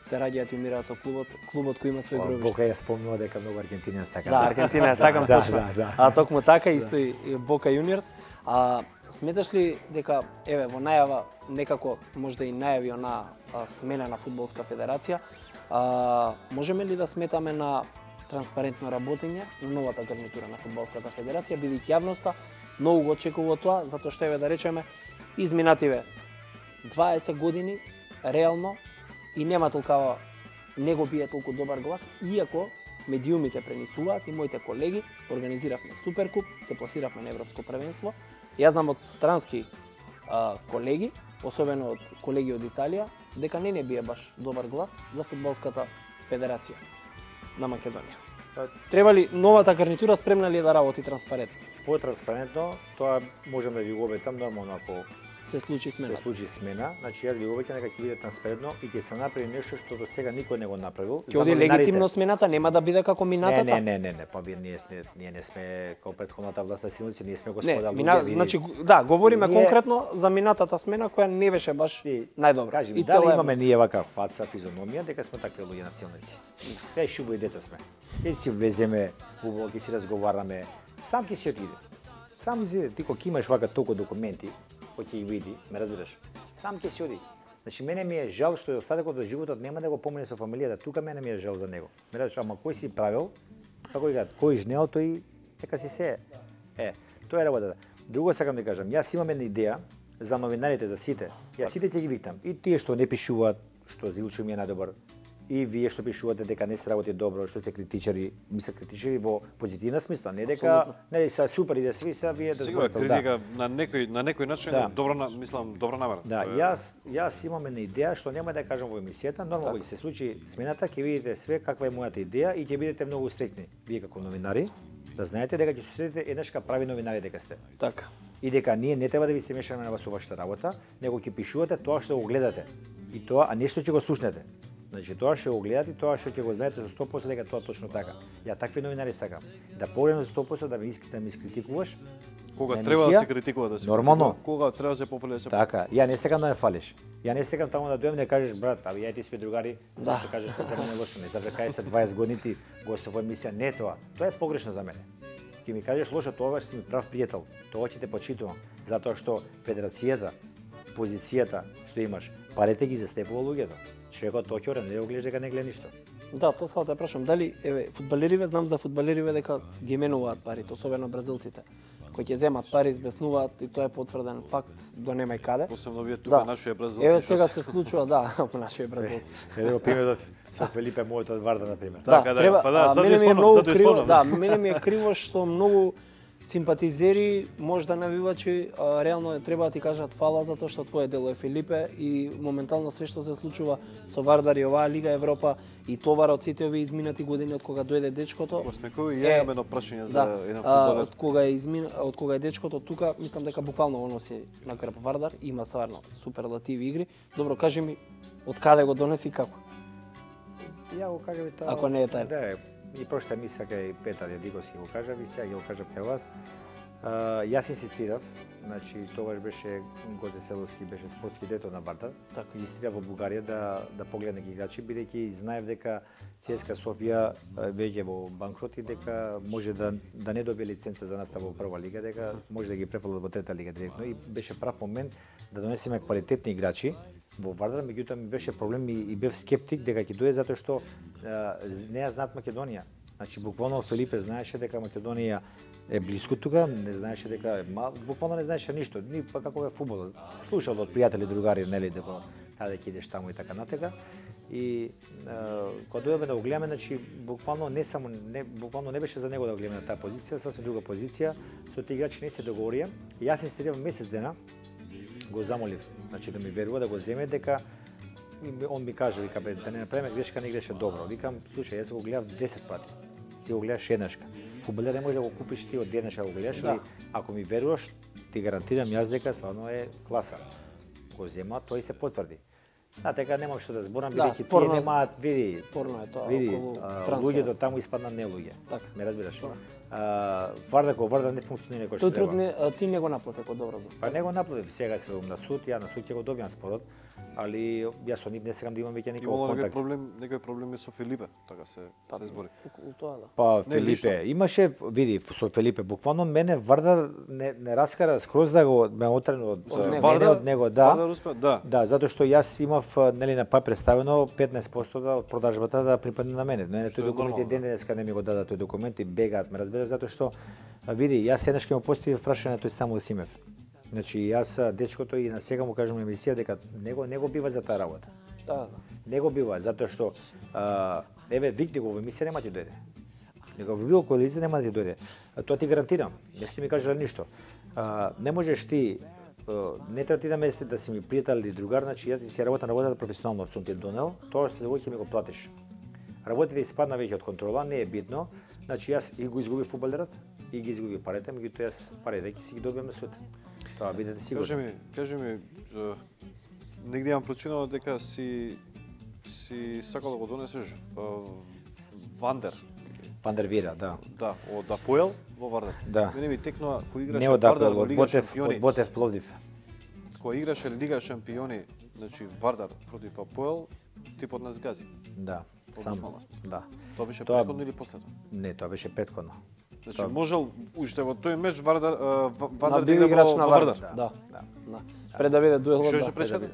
се раѓаат и умираат со клубот, клубот кој има свој гробиште. Бока ја спомнува дека многу Аргентина сака. Да, Аргентина ја сакам да, точно. Да, да. А токму така исто и Бока Јуниорс. А сметаш ли дека еве во најава некако можда и најави она а, смена на фудбалска федерација, а, можеме ли да сметаме на транспарентно работење на новата гарнитура на фудбалската федерација, бидејќи јавноста многу го очекува тоа, затоа што еве да речеме изминативе дваесет години реално и нема толкава, не го бие толку добар глас, иако медиумите пренесуваат и моите колеги организиравме Суперкуп, се пласиравме на Европско првенство. Јас знам од странски а, колеги, особено од колеги од Италија, дека не не бие баш добар глас за фудбалската федерација на Македонија. Треба ли новата гарнитура спремна ли е да работи транспарентно? Потранспарентно, тоа можеме да ви го обетам нормално ако се случи смена. Се случи смена, значи јас ви го обеќам дека ќе биде транспарентно и ќе се направи нешто што до сега никој не го направил. Ќе оди легитимно смената, нема да биде како минатата? Не, не, не, не, па ние ние, ние не сме како претходната власт на силници, ние сме господа луѓе. Мина, значи да, говориме ние... конкретно за минатата смена која не беше баш најдобра. Кажи ми, дали имаме ние вака фаца, физиономија дека сме такви луѓе на силници? Кај шубо и дета сме. Ќе си веземе, убаво ќе си разговараме, сам ќе си отиде. Сам си ти кога имаш вака толку документи, кој ќе ги види, ме разбираш. Сам ќе си оди. Значи мене ми е жал што остатокот од животот нема да го помине со фамилијата, тука мене ми е жал за него. Ме разбираш, ама кој си правил? Како и кој жнел тој дека си се. Е, тоа е работата. Друго сакам да кажам, јас имам една идеја за новинарите, за сите. Јас сите ќе ги викнам. И тие што не пишуваат, што Зилчо ми е најдобар, и вие што пишувате дека не се работи добро, што сте критичари, ми се критичари во позитивна смисла, не дека не се супер и да сви се вие да зборите. Критика на некој на некој начин да. добро, мислам, добро намерена. Да, јас јас имам една идеја што нема да кажам во емисијата, нормално ќе се случи смената, ќе видите све каква е мојата идеја и ќе бидете многу среќни вие како новинари, да знаете дека ќе се следите еднашка прави новинари дека сте. Така. И дека ние не треба да ви се мешаме на вас во вашата работа, него ќе пишувате тоа што го гледате. И тоа, а нешто ќе го слушнете. Значи тоа што го гледате, тоа што ќе го знаете за сто проценти дека тоа точно така. Ја такви новинари сакам. Да погледнам за сто проценти да ме искате да ме искритикуваш. Кога треба да се критикува да се нормално. Кога треба да се пофали да се. Така, ја не сакам да ме фалиш. Ја не сакам таму да дојдем да кажеш брат, абе ја ти сме другари, да. Што кажеш дека не лошо, не знам дека се дваесет години ти гостува во емисија, не тоа. Тоа е погрешно за мене. Ќе ми кажеш лошо, тоа си ми прав пријател. Тоа ќе те почитувам, затоа што федерацијата, позицијата што имаш, парите ги застепува луѓето. Човекот Токиора не го гледа дека не гледа ништо. Да, тоа сакам да прашам, дали еве фудбалериве, знам за фудбалериве дека ги менуваат парите, особено бразилците, кои ќе земат пари, избеснуваат и тоа е потврден факт до нема и каде. Посебно вие тука да. Нашиот бразилци. Еве сега се случува, да, по нашиот бразилци. Еве примерот со Фелипе мојот од Варда на пример. Да, така, треба, па да, затоа исполнам, затоа исполнам. Да, мене ми е криво што многу симпатизери, можда навивачи, а, реално треба да ти кажат фала затоа што твое дело е Филипе и моментално све што се случува со Вардар и оваа Лига Европа и товара од сите овие изминати години од кога дојде дечкото. Осмекови ја имам едно прашање за да, еден фудбалер. Од кога е измина, од кога е дечкото тука, мислам дека буквално оно си на грб Вардар, има стварно суперлативи игри. Добро, кажи ми од каде го донеси и како? Ја го кажам и тоа. Ако не е тајна. Да, и прошта мисля кај Петар Јадиговски го кажа, ви сега го кажам кај вас. Uh, јас инсистирав, значи тогаш беше Гоце Селовски, беше спортски директор на Вардар. Така. Инсистирав во Бугарија да да погледне некои играчи, бидејќи знаев дека ЦСКА Софија веќе во банкрот и дека може да да не добие лиценца за настава во прва лига, дека може да ги префрлат во трета лига директно и беше прав момент да донесеме квалитетни играчи во Вардар, меѓутоа ми беше проблем и, и бев скептик дека ќе дојде затоа што uh, не ја знаат Македонија. Значи буквално Филипе знаеше дека Македонија е близко тука, не знаеше дека ма, буквално не знаеше ништо, ни па како е фудбал. Слушал од пријатели, другари, нели дека таде ќе идеш таму и така натека. И е, кога дојдовме да го гледаме, значи буквално не само не буквално не беше за него да го гледаме на таа позиција, сасвим друга позиција, со тие играчи не се договорија. И јас инсистирав месец дена, го замолив, значи да ми верува да го земе дека он ми каже, вика бе, да не направиме грешка, не играше добро. Викам, слушај, јас го гледав десет пати. Ти го гледаш еднашка. Фудбалер не може да го купиш ти од еднашка го гледаш, да. Ако ми веруваш, ти гарантирам јас дека стварно е класа. Го зема, тој се потврди. Да, така нема што да зборам, да, бидејќи тие немаат, види, спорно е тоа, види, околу луѓето таму испадна не луѓе. Така. Ме разбираш? А, Вардар кој Вардар не функционира кој што треба. Тој труд ти не го наплати, ако добро знам. Па не го наплатив, сега се на суд, ја на суд ќе го добиам спорот, али јас со нив не сакам да имам веќе никаков контакт. Имало некој проблем, некој проблеми со Филипе, така се па, се збори. Околу тоа да. Па не, Филипе, лично. Имаше, види, со Филипе, буквално мене Вардар не, не раскара скроз да го ме отрен од, од мене Вардар, од него, да. Вардар успе, да. Да, затоа што јас имав нели на папир представено петнаесет проценти од продажбата да припадне на мене. Мене тој документ и ден денеска не ми го дадат тој документ и бегаат, ме разбира, затоа што види, јас еднаш ќе му поставив прашање тој Самуил Симев. Значи јас дечкото и на сега му кажам на емисија дека него него бива за таа работа. Да, да. Не го бива, затоа што а, еве викни го во емисија нема ти дојде. Него во било која лице нема да ти дојде. А, тоа ти гарантирам. Не сте ми кажале ништо. А, не можеш ти а, не треба ти да ме да си ми пријател или другар, значи ја ти си работам работата професионално, сум ти донел, тоа што ќе ми го платиш. Работите испадна веќе од контрола, не е битно. Значи јас и го изгубив фудбалерот, и ги изгубив парите, меѓутоа јас парите ќе си ги добиам на суд. Тоа бидете сигурни. Кажи ми, кажи ми, е, негде имам прочинало дека си си сакал да го донесеш е, Вандер. Вандер Вира, да. Да, од Апоел во Вардар. Да. Мене ми текнува кој играше Не од Вардар Апоел, во од Лига Ботев, шампиони. од Ботев Пловдив. Кој играше Лига шампиони, значи Вардар против Апоел, типот нас гази. Да, сам. Да. Тоа беше Тоа- претходно или последно? Не, тоа беше претходно. Значи Тоа- можел уште во тој меч Вардар е, Ва- На Вардар да бил игра играч во на во Вардар. Вардар. Да. Да. Да. Пред да биде дуелот, Што да. беше пречка?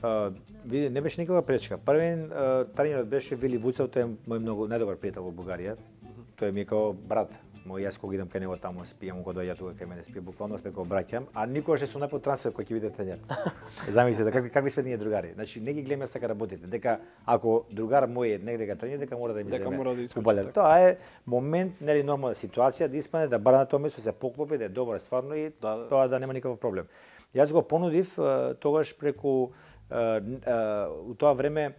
А, види, не беше никаква пречка. Првен тренерот беше Вили Вуцев, тој е мој многу најдобар пријател во Бугарија. Тој ми е као брат. Мој јас кога идам кај него таму спијам, кога доаѓа тука кај мене спија, буквално сме као браќа, а никогаш не сум направил трансфер кој ќе биде тренер. Замислете какви какви сме ние другари. Значи не ги гледаме така работите, дека ако другар мој е негде га тренер, дека мора да ми Дека земе мора да искочи, фудбалер. така. Тоа е момент, нели нормална ситуација да испадне да бара на тоа место, се поклопи, да е добар стварно и Да, да. тоа да нема никаков проблем. Јас го понудив е, тогаш преку е, е, у тоа време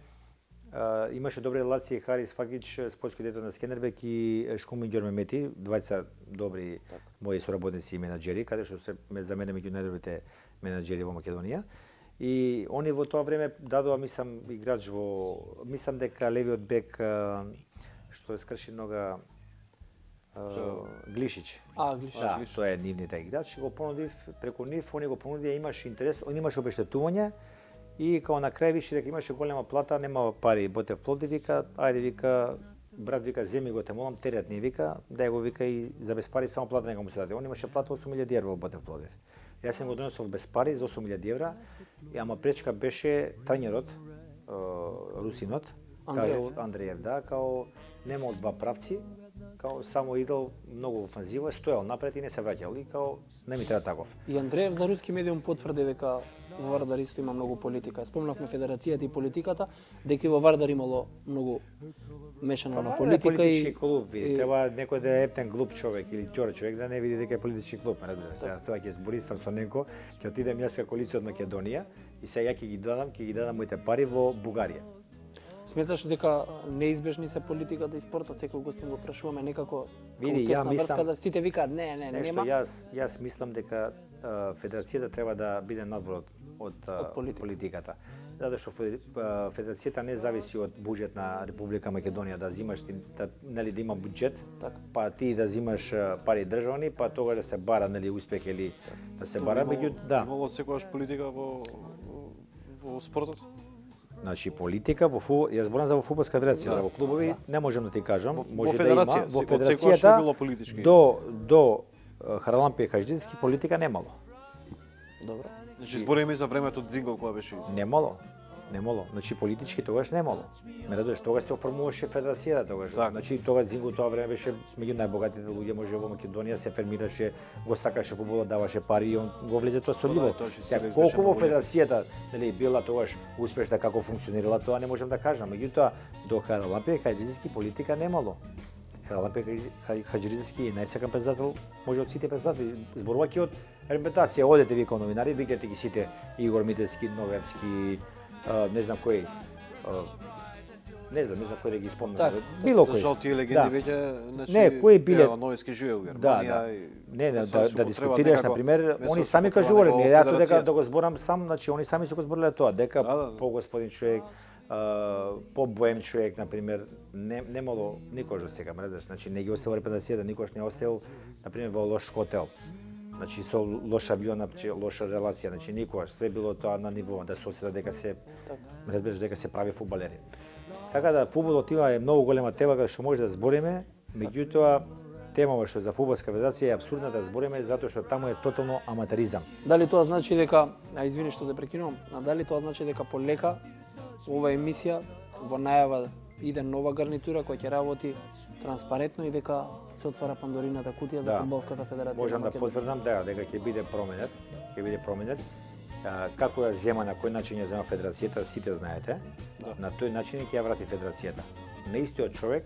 Uh, имаше добри релации Харис Факич, спортски директор на Скендербек и Шкумин Ѓермемети, двајца добри так. мои соработници и менаџери, каде што се за мене меѓу најдобрите менаџери во Македонија. И они во тоа време дадоа, мислам, играч во, мислам дека левиот бек uh, што е скрши нога uh, Глишич. А, глиш. Да, тоа е нивните играч, го понудив преку нив, они го понудија, имаше интерес, он имаше обештетување. И као на крај више дека имаше голема плата, нема пари, Ботев Пловдив вика, ајде вика, брат вика, земи го те молам, терет ни вика, да го вика и за без пари само плата нека му се даде. Он имаше плата осум илјади евра во Ботев Пловдив. Јас сум го донесол без пари за осум илјади евра, и ама пречка беше тренерот, русинот, Андреев. као Андреев, да, као нема од два правци, као само идел многу офанзива, стоел напред и не се враќал, и као не ми треба таков. И Андреев за руски медиум потврди дека во Вардар исто има многу политика. Спомнавме федерацијата и политиката, дека и во Вардар имало многу мешано на политика и политички клуб, види, и- треба некој да е ептен глуп човек или ќор човек да не види дека е политички клуб, разбираш. Сега тоа ќе збори сам со некој, ќе отидем јас како лице од Македонија и сега ќе ги дадам, ќе ги дадам моите пари во Бугарија. Сметаш дека неизбежни се политиката и спортот, секој гостин го прашуваме некако Види, како тесна ја мислам- врска, да сите викаат не, не, Нешто нема. јас јас мислам дека а, федерацијата треба да биде надвор од од, а, Од политика. политиката. Затоа што фе- а, федерацијата не зависи од буџет на Република Македонија, да зимаш ти да, нели да има буџет, Така. па ти да зимаш а, пари државни, па тогаш да се бара нели успех или да се бара меѓу да. Имало секогаш политика во во, во спортот? Значи политика во фу, јас зборам за во фудбалска федерација, за во клубови не можам да ти кажам, Во- во може да федерација, има, во од секогаш не било политички. до до а, Харалампија Хаџидински политика немало. Добро. Значи збориме за времето Дзингол кога беше изабран. Немало. Немало. Значи политички тогаш немало. Ме радуваш, тогаш се оформуваше федерацијата тогаш. Так. Значи тогаш Зингу тоа време беше меѓу најбогатите луѓе може во Македонија, се фермираше, го сакаше фудбалот, даваше пари и он го влезе тоа со Па да, љубов. тоа ќе се Сега, разбеше колку во многу лепо. федерацијата нели била тогаш успешна, како функционирала, тоа не можам да кажам. Меѓутоа до Харалампија Хаџидински политика немало. Харалампија Хаџидински е најсакан председател, може од сите председатели, зборувајќи од репутација, одете ви као новинари, викате ги сите Игор Митевски, Новевски, а, не знам кој, а, не знам, не знам кој да ги спомнам. Така. Било кој. Зашто тие легенди веќе, значи Не, кои биле- Ева, Новиски живее во Да, Германија. да. и- Не, не, Сега да, се да употреба дискутираш, некако- на пример, место они се сами употреба кажувале, некако не јато дека федерација. да го зборам сам, значи они сами се го збориле тоа, дека Да, да. по господин човек, а, по боем човек, на пример, не немало никош до сега, мредаш, значи не ги оставил репрезентацијата, никош не оставил, на пример, во лош хотел. Значи со лош авион, значи лоша релација, значи никогаш све било тоа на ниво да се осети дека се разбираш дека се прави фудбалери. Така да фудбалот има е многу голема тема каде што може да збориме, меѓутоа темава што е за фудбалска федерација е апсурдна да збориме затоа што таму е тотално аматеризам. Дали тоа значи дека, а извини што те прекинувам, а дали тоа значи дека полека ова емисија во најава иде нова гарнитура која ќе работи транспарентно и дека се отвара Пандорината кутија за Да. фудбалската федерација. Можам на да Македонија? потврдам да, дека ќе биде променет, ќе биде променет. А, како ја зема, на кој начин ја зема федерацијата, сите знаете. На тој начин ќе ја врати федерацијата. На истиот човек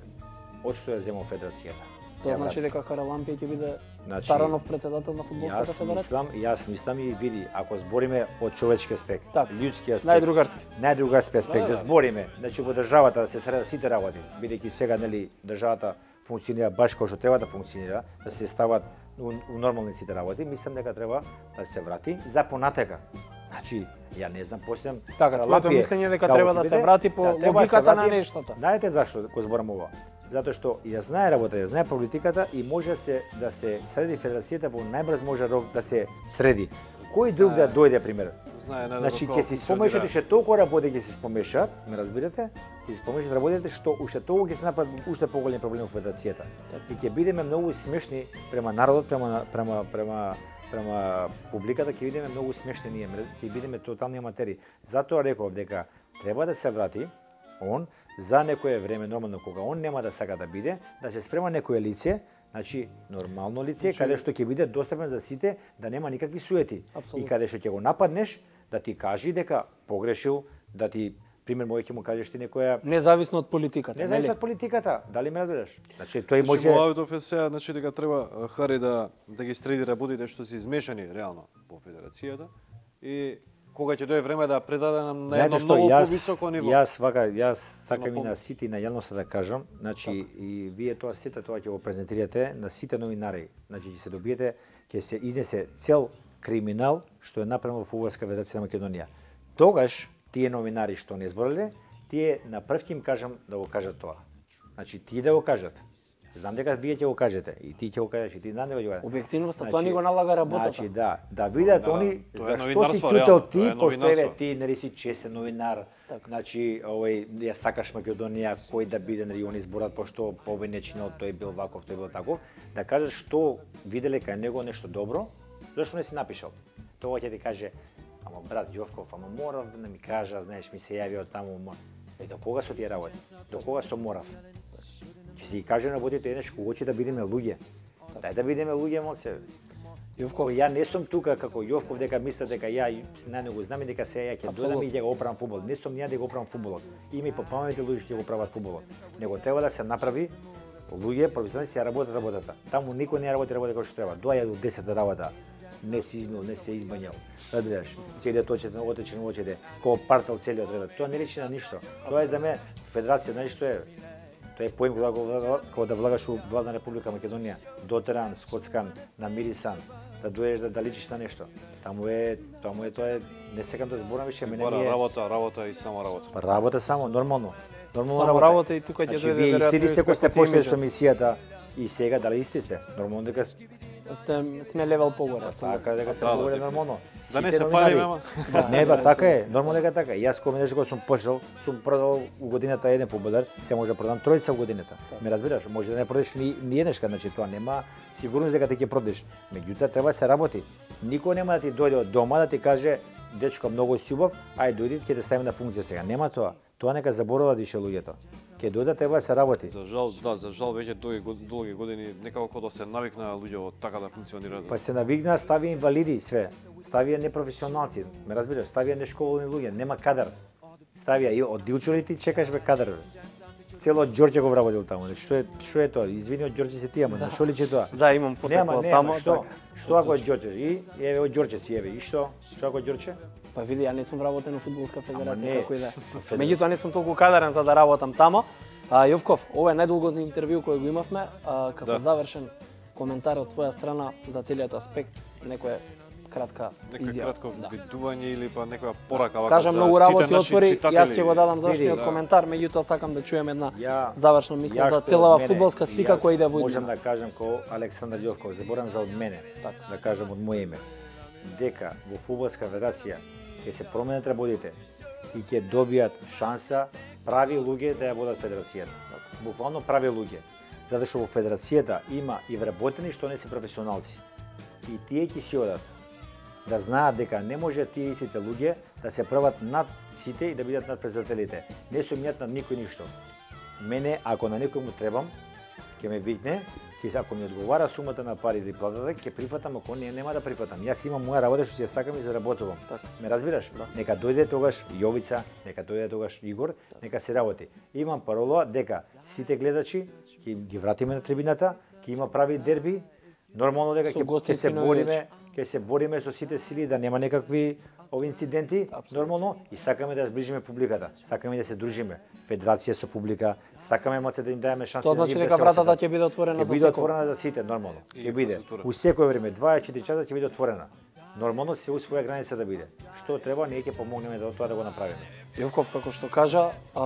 од што ја земал федерацијата. Тоа значи дека Харалампија ќе биде Значи, Старанов председател на фудбалската Јас федерација? мислам, јас мислам и види, ако збориме од човечки аспект, Так, људски аспект, најдругарски. најдругарски аспект, Да, да да. збориме, значи во државата да се средат сите работи, бидејќи сега нели државата функционира баш како што треба да функционира, да се стават у, у нормални сите работи, мислам дека треба да се врати за понатека. Значи, ја не знам, посебно Така, твоето мислење дека треба да се врати по логиката на нештата. Знаете зашто го зборам ова? Затоа што ја знае работа, ја знае политиката и може се да се среди федерацијата во најбрз може рок да се среди. Кој друг да дојде пример? Знае најдобро Значи како ќе си функционира. спомешат уште толку работи ќе се спомешат, ме разбирате? Ќе се спомешат работите што уште толку ќе се направат уште поголеми проблеми во федерацијата. И ќе бидеме многу смешни према народот, према према према према публиката, ќе бидеме многу смешни ние, ќе бидеме тотални аматери. Затоа реков дека треба да се врати он за некое време, нормално кога он нема да сака да биде, да се спрема некое лице, значи нормално лице, каде што ќе биде достапен за сите, да нема никакви суети. Апсолутно. И каде што ќе го нападнеш, да ти кажи дека погрешил, да ти пример мој ќе му кажеш ти некоја Независно од политиката, не нели? знаеш од политиката, дали ме разбираш? Значи тој Може... може Муавитов е сега, значи дека треба а, Хари да да ги среди работите што се измешани реално во федерацијата и кога ќе дое време да предаде нам на едно Знаете што, многу јас, повисоко ниво. Јас вака, јас сакам На и на сите и на јавноста да кажам, значи и вие тоа сите тоа ќе го презентирате на сите новинари. Значи ќе се добиете, ќе се изнесе цел криминал што е направен во Фудбалска федерација на Македонија. Тогаш тие новинари што не збореле, тие на прв ќе им кажам да го кажат тоа. Значи тие да го кажат. Знам дека вие ќе го кажете и ти ќе го кажеш и ти знам дека ќе го кажеш. Објективноста, тоа ни го налага работата. Значи да, да видат Да, они тоа е зашто си новинарство, ќутел реално, ти, тоа е пошто новинарство. еве ти нели си честен новинар. Значи, овој ја сакаш Македонија, кој да биде нели они зборат пошто овој не чинел, тој бил ваков, тој бил таков, да кажеш што виделе кај него нешто добро, зашто не си напишал. Тоа ќе ти каже, ама брат Јовков, ама морав да ми кажа, знаеш, ми се јави од таму, ма. Е, до кога со тие работи? До кога со морав? Ќе си ги каже работите еднаш кога ќе да бидеме луѓе. Дај да бидеме луѓе, моце. Јовков, ја не сум тука како Јовков дека мисля дека ја нај не го знам и дека се ја ќе дојдам и ќе го оправам фудбал. Не сум ја да го оправам фудбалот. Има и попамeti луѓе што го прават фудбалот. Него треба да се направи луѓе професионалисти ја работат работата. Таму никој не работи работа како што треба. Доаѓа до десет работа. Не се измил, не се избањал. Разбираш? Целиот очет отечен очете, ко партал целиот ред. Тоа не речи на ништо. Тоа е за мене федерација, знаеш што е? Тоа е поим кога го кога да влагаш у Владна Република Македонија, дотеран, скоцкан, намирисан, да доеш да, да личиш на нешто. Таму е, таму е тоа е, не сакам да зборам више, мене Бара ми е работа, работа и само работа. Па работа само нормално. Нормално Само работа и тука ќе Значи, дојде вие веројатно исти ли сте кои сте успехот и почнали имиџот. со мисијата и сега дали исти сте? Нормално дека Сте сме левел погоре. така дека сте Да, да, говори дека- нормално. Да не Сите се новинари. фалиме, ама. Не, ба, така е, нормално дека така. е. Јас кога нешто сум почнал, сум продал у годината еден фудбалер, се може да продам тројца у годината. Ме разбираш, може да не продеш ни, ни еднешка, значи тоа нема сигурност дека ти ќе продеш. Меѓутоа треба да се работи. Никој нема да ти дојде од дома да ти каже дечко многу си убав, ај дојди ќе те ставиме на функција сега. Нема тоа. Тоа нека заборават више луѓето. Ќе дојде треба да се работи. За жал, да, за жал веќе долги год- долги години некако да се навикнаа луѓе така да функционираат. Па се навигнаа, стави инвалиди све. Ставија непрофесионалци, ме разбираш, ставија нешколни луѓе, нема кадар. Ставија и од Дилчури ти чекаш бе кадар. Бе. Цело од Ѓорѓе го вработил таму. Значи што е што е тоа? Извини од Ѓорѓе се ти, ама да. Што личи тоа? Да, имам потекло Нема, од нема, таму, што? така. Што ако од Ѓорѓе? И еве од Ѓорѓе си еве. И што? Што ако од Ѓорѓе? Па види, ја не сум вработен во фудбалска федерација не. како и да. е. Меѓутоа не сум толку кадарен за да работам тамо. А, Јовков, ова е најдолгото интервју кој го имавме, а, како Да. завршен коментар од твоја страна за целиот аспект, некоја кратка Нека изјава. кратко Да. видување или па некоја порака вака Кажа за многу сите работи наши отвори, читатели. јас ќе го дадам завршниот Види, коментар, меѓутоа сакам да чуем една Ја завршна мисла Ја за што целава од мене, фудбалска слика јас која иде во Можам иднина. да кажам ко Александар Јовков, заборам за од мене, Така. да кажам од моје име, дека во фудбалска федерација ќе се променат работите и ќе добијат шанса прави луѓе да ја водат федерацијата. Буквално прави луѓе. Затоа што во федерацијата има и вработени што не се професионалци. И тие ќе си одат да знаат дека не може тие истите луѓе да се прават над сите и да бидат над председателите. Не сум јат над никој ништо. Мене, ако на некој му требам, ќе ме викне ќе ако ми одговара сумата на пари или платата, ќе прифатам, ако не, нема да прифатам. Јас имам моја работа што ќе сакам и заработувам. Така. Ме разбираш? Да. Нека дојде тогаш Јовица, нека дојде тогаш Игор, нека се работи. Имам парола дека сите гледачи ќе ги вратиме на трибината, ќе има прави дерби, нормално дека ќе ќе се бориме, ќе се бориме со сите сили да нема некакви ови инциденти, Абсолютно. Нормално, и сакаме да зближиме публиката. Сакаме да се дружиме. Федерација со публика, сакаме моце да им даеме шанса. Тоа значи дека вратата ќе биде отворена за секој. Ќе биде отворена за сите, нормално. Ќе биде. У секое време, дваесет и четири часа ќе биде отворена. Нормално се у своја граница да биде. Што треба, ние ќе помогнеме да тоа да го направиме. Јовков, како што кажа, а,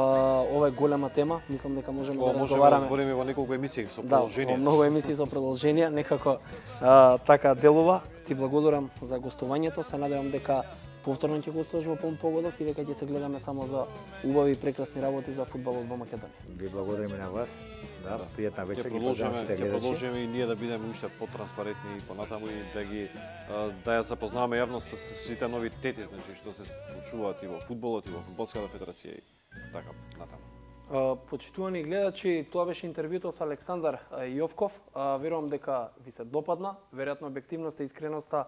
ова е голема тема, мислам дека можеме О, да можеме разговараме. да збориме во неколку емисии со продолжение. Да, многу емисии со продолжение, некако а, така делува. Ти благодарам за гостувањето, се надевам дека повторно ќе гостуваш во полн погодок и дека ќе се гледаме само за убави и прекрасни работи за фудбалот во Македонија. Ви благодариме на вас. Да, пријатна вечер. Ќе продолжиме, ќе продолжиме и ние да бидеме уште потранспарентни и понатаму и да ги да ја запознаваме јавност со сите новитети, значи што се случуваат и во фудбалот и во фудбалската федерација и така натаму. Uh, почитувани гледачи, тоа беше интервјуто со Александар Јовков. Uh, верувам дека ви се допадна. Веројатно објективноста и искреноста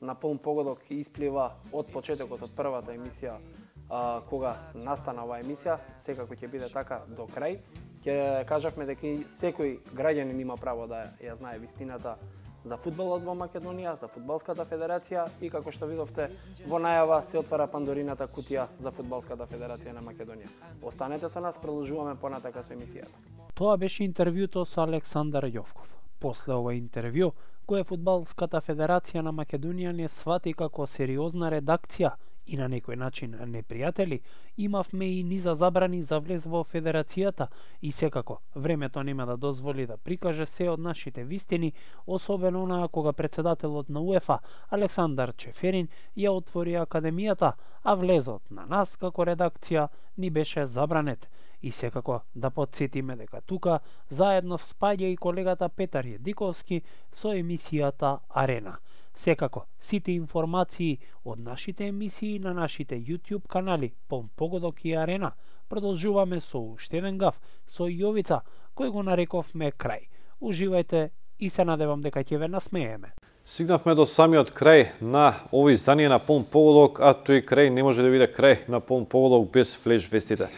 на полн погодок исплива од почетокот, од првата емисија, uh, кога настана оваа емисија. Секако ќе биде така до крај. Ќе кажавме дека и секој граѓанин има право да ја знае вистината за фудбалот во Македонија, за фудбалската федерација и како што видовте во најава се отвара Пандорината кутија за фудбалската федерација на Македонија. Останете со нас, продолжуваме понатака со емисијата. Тоа беше интервјуто со Александар Јовков. После ова интервју, кој е фудбалската федерација на Македонија не свати како сериозна редакција и на некој начин непријатели, имавме и низа забрани за влез во федерацијата и секако времето нема да дозволи да прикаже се од нашите вистини, особено онаа кога председателот на УЕФА Александар Чеферин ја отвори академијата, а влезот на нас како редакција ни беше забранет. И секако да подсетиме дека тука заедно спаѓа и колегата Петар Једиковски со емисијата Арена. Секако, сите информации од нашите емисии на нашите YouTube канали Полн погодок и Арена. Продолжуваме со уште еден гаф со Јовица, кој го нарековме крај. Уживајте и се надевам дека ќе ве насмееме. Стигнавме до самиот крај на овој издание на Полн погодок, а тој крај не може да биде крај на Полн погодок без флеш вестите.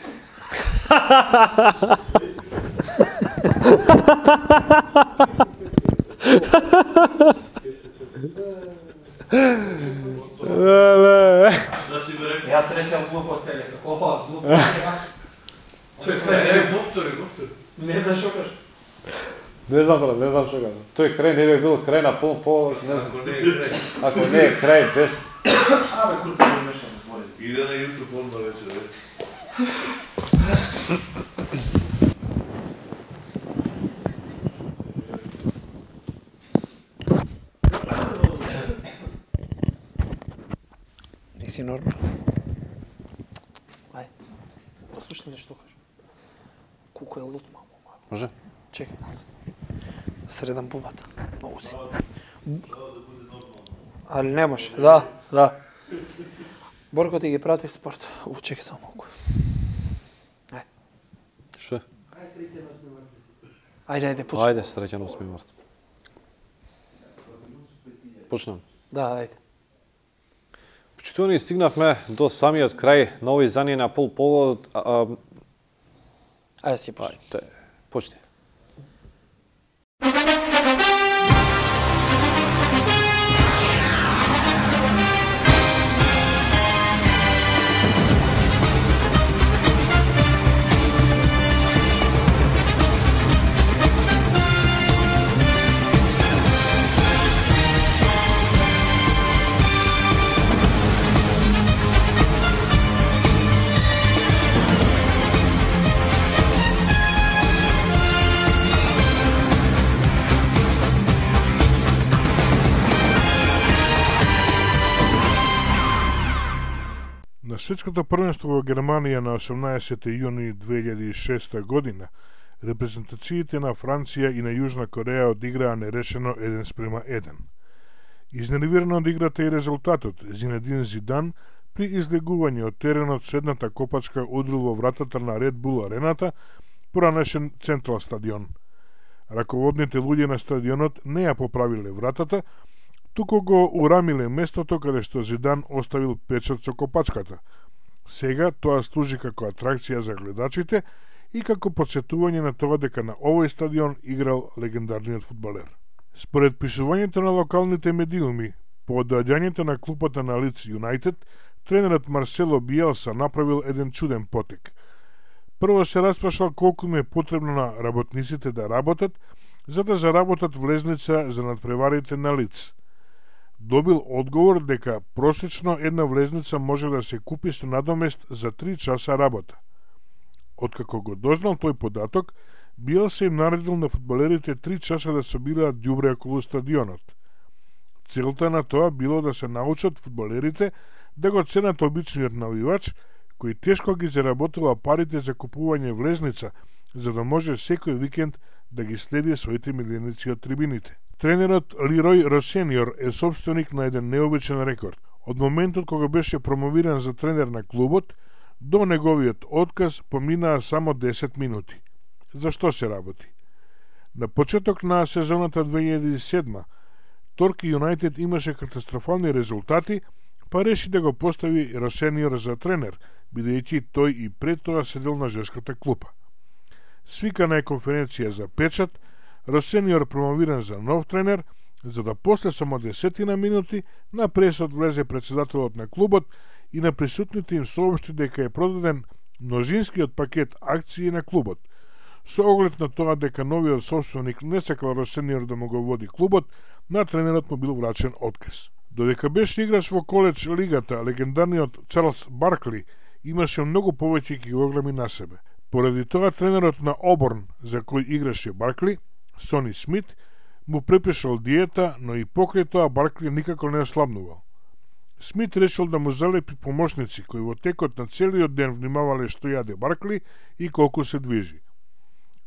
Ја тресам глупости, како глупости. Не, повтори, повтори. Не знам што кажеш. Не знам, брат, не знам што кажам. Тој крај не би бил крај на Полн погодок, не знам. Ако не е крај. Ако не е крај без Абе, курта не мешам се збори. Иде на YouTube одма вечер, бе. Си нормал. Ај, послушни што кажа. Колку е лут, мамо. Може? Чекај. Средам бубата. Многу си. Али не може. Да, да. Борко ти ги прати в спорт. У, чекај само малку. Ај. Што? Ајде, ајде, почнем. Ајде, среќен осми март. Почнем. Да, ајде. Почитувани, стигнавме до самиот крај на овој издание на Полн погодок. Ајде си почни. Ајде, почни. На светското првенство во Германија на осумнаесети јуни две илјади и шеста година, репрезентациите на Франција и на Јужна Кореја одиграа нерешено еден спрема еден. Изнервирано од играта и резултатот, Зинедин Зидан при излегување од теренот со едната копачка удрил во вратата на Ред Бул арената, поранешен Централ стадион. Раководните луѓе на стадионот не ја поправиле вратата, туку го урамиле местото каде што Зидан оставил печат со копачката. Сега тоа служи како атракција за гледачите и како подсетување на тоа дека на овој стадион играл легендарниот фудбалер. Според пишувањето на локалните медиуми, по доаѓањето на клупата на Лидс Юнайтед, тренерот Марсело Биелса направил еден чуден потек. Прво се распрашал колку им е потребно на работниците да работат, за да заработат влезница за надпреварите на Лидс. Добил одговор дека просечно една влезница може да се купи со надомест за три часа работа. Откако го дознал тој податок, Биелса им наредил на фудбалерите три часа да собираат ѓубре околу стадионот. Целта на тоа било да се научат фудбалерите да го ценат обичниот навивач, кој тешко ги заработила парите за купување влезница, за да може секој викенд да ги следи своите миленици од трибините. Тренерот Лирој Росениор е собственик на еден необичен рекорд. Од моментот кога беше промовиран за тренер на клубот, до неговиот отказ поминаа само десет минути. Зашто се работи? На почеток на сезоната две илјади и седма, Торки Юнайтед имаше катастрофални резултати, па реши да го постави Росениор за тренер, бидејќи тој и пред тоа седел на жешката клупа. Свикана е конференција за печат, Росениор промовиран за нов тренер, за да после само десетина минути на пресот влезе председателот на клубот и на присутните им соопшти дека е продаден мнозинскиот пакет акции на клубот. Со оглед на тоа дека новиот собственик не сакал Росениор да му го води клубот, на тренерот му бил врачен отказ. Додека беше играч во коледж лигата, легендарниот Чарлс Баркли имаше многу повеќе килограми на себе. Поради тоа тренерот на Оборн, за кој играше Баркли, Сони Смит, му препишал диета, но и покрај тоа Баркли никако не ослабнувал. Смит решил да му залепи помошници, кои во текот на целиот ден внимавале што јаде Баркли и колку се движи.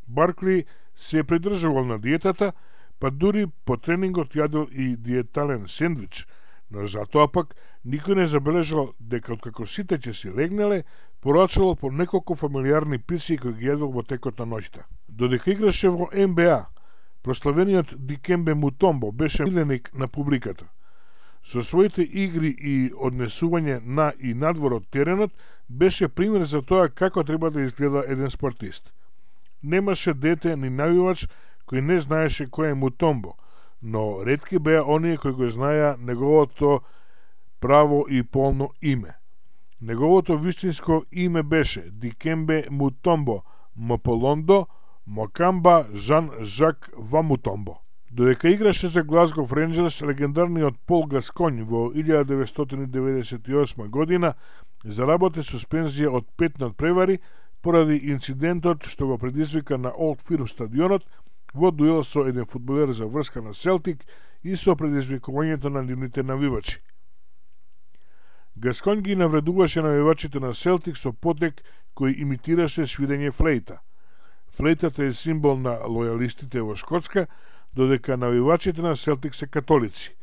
Баркли се придржувал на диетата, па дури по тренингот јадел и диетален сендвич, но затоа пак никој не забележал дека откако сите ќе си легнеле, порачувал по неколку фамилиарни пици кои ги јадел во текот на ноќта. Додека играше во Н Б А, прославениот Дикембе Мутомбо беше миленик на публиката. Со своите игри и однесување на и надвор од теренот беше пример за тоа како треба да изгледа еден спортист. Немаше дете ни навивач кој не знаеше кој е Мутомбо, но ретки беа оние кои го знаеа неговото право и полно име. Неговото вистинско име беше Дикембе Мутомбо Мополондо Мокамба Жан Жак Вамутомбо. Додека играше за Глазгов Ренџерс, легендарниот Пол Гасконј во илјада деветстотини деветдесет и осма година заработи суспензија од пет надпревари поради инцидентот што го предизвика на Олд Фирм стадионот во дуел со еден фудбалер за врска на Селтик и со предизвикувањето на нивните навивачи. Гасконј ги навредуваше навивачите на Селтик со потек кој имитираше свирење флейта. Флейтата е символ на лојалистите во Шкотска, додека навивачите на Селтик се католици.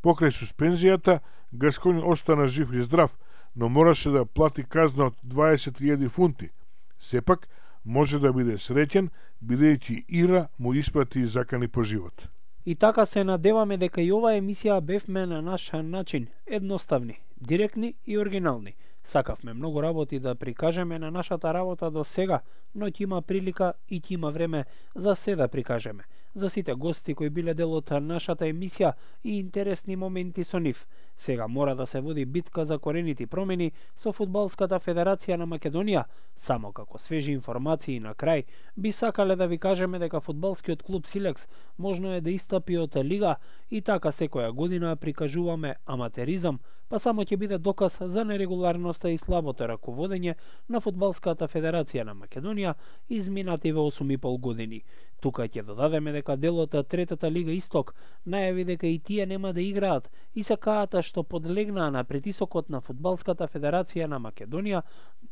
Покрај суспензијата, Гасконј остана жив и здрав, но мораше да плати казна од дваесет илјади фунти. Сепак, може да биде среќен, бидејќи Ира му испрати и закани по живот. И така се надеваме дека и оваа емисија бевме на наш начин едноставни, директни и оригинални. Сакавме многу работи да прикажеме на нашата работа до сега, но ќе има прилика и ќе има време за се да прикажеме. За сите гости кои биле дел од нашата емисија и интересни моменти со нив. Сега мора да се води битка за корените промени со Фудбалската федерација на Македонија. Само како свежи информации на крај, би сакале да ви кажеме дека фудбалскиот клуб Силекс можно е да истапи од лига и така секоја година прикажуваме аматеризам, па само ќе биде доказ за нерегуларноста и слабото раководење на Фудбалската федерација на Македонија изминативе осум и пол години. Тука ќе додадеме дека делот од Третата лига Исток најави дека и тие нема да играат и сакаат што подлегнаа на притисокот на Фудбалската федерација на Македонија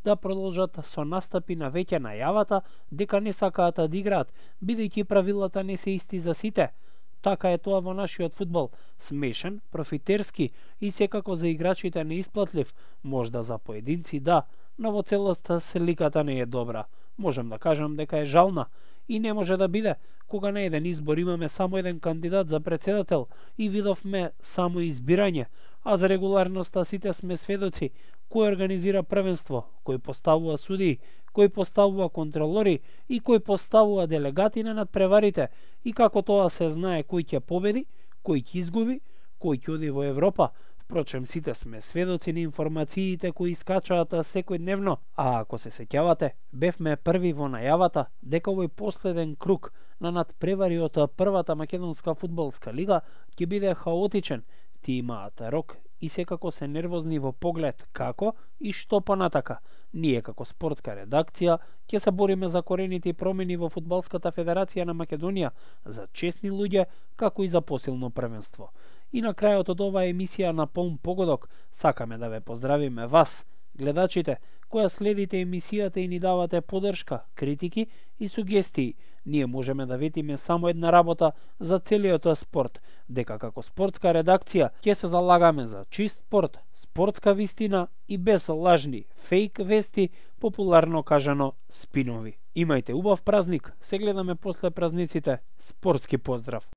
да продолжат со настапи на веќе најавата дека не сакаат да играат, бидејќи правилата не се исти за сите. Така е тоа во нашиот фудбал, смешен, профитерски и секако за играчите неисплатлив, можда за поединци да, но во целост сликата не е добра. Можам да кажам дека е жална и не може да биде. кога на еден избор имаме само еден кандидат за председател и видовме само избирање, а за регуларноста сите сме сведоци кој организира првенство, кој поставува судии, кој поставува контролори и кој поставува делегати на надпреварите и како тоа се знае кој ќе победи, кој ќе изгуби, кој ќе оди во Европа. Впрочем, сите сме сведоци на информациите кои искачаат секојдневно, а ако се сеќавате, бевме први во најавата дека овој последен круг на надпревари од првата македонска фудбалска лига ќе биде хаотичен. Ти имаат рок и секако се нервозни во поглед како и што понатака. Ние како спортска редакција ќе се бориме за корените промени во Фудбалската федерација на Македонија, за честни луѓе, како и за посилно првенство. И на крајот од оваа емисија на полн погодок сакаме да ве поздравиме вас, гледачите, која следите емисијата и ни давате поддршка, критики и сугестии. Ние можеме да ветиме само една работа за целиот спорт, дека како спортска редакција ќе се залагаме за чист спорт, спортска вистина и без лажни фейк вести, популарно кажано спинови. Имајте убав празник, се гледаме после празниците. Спортски поздрав!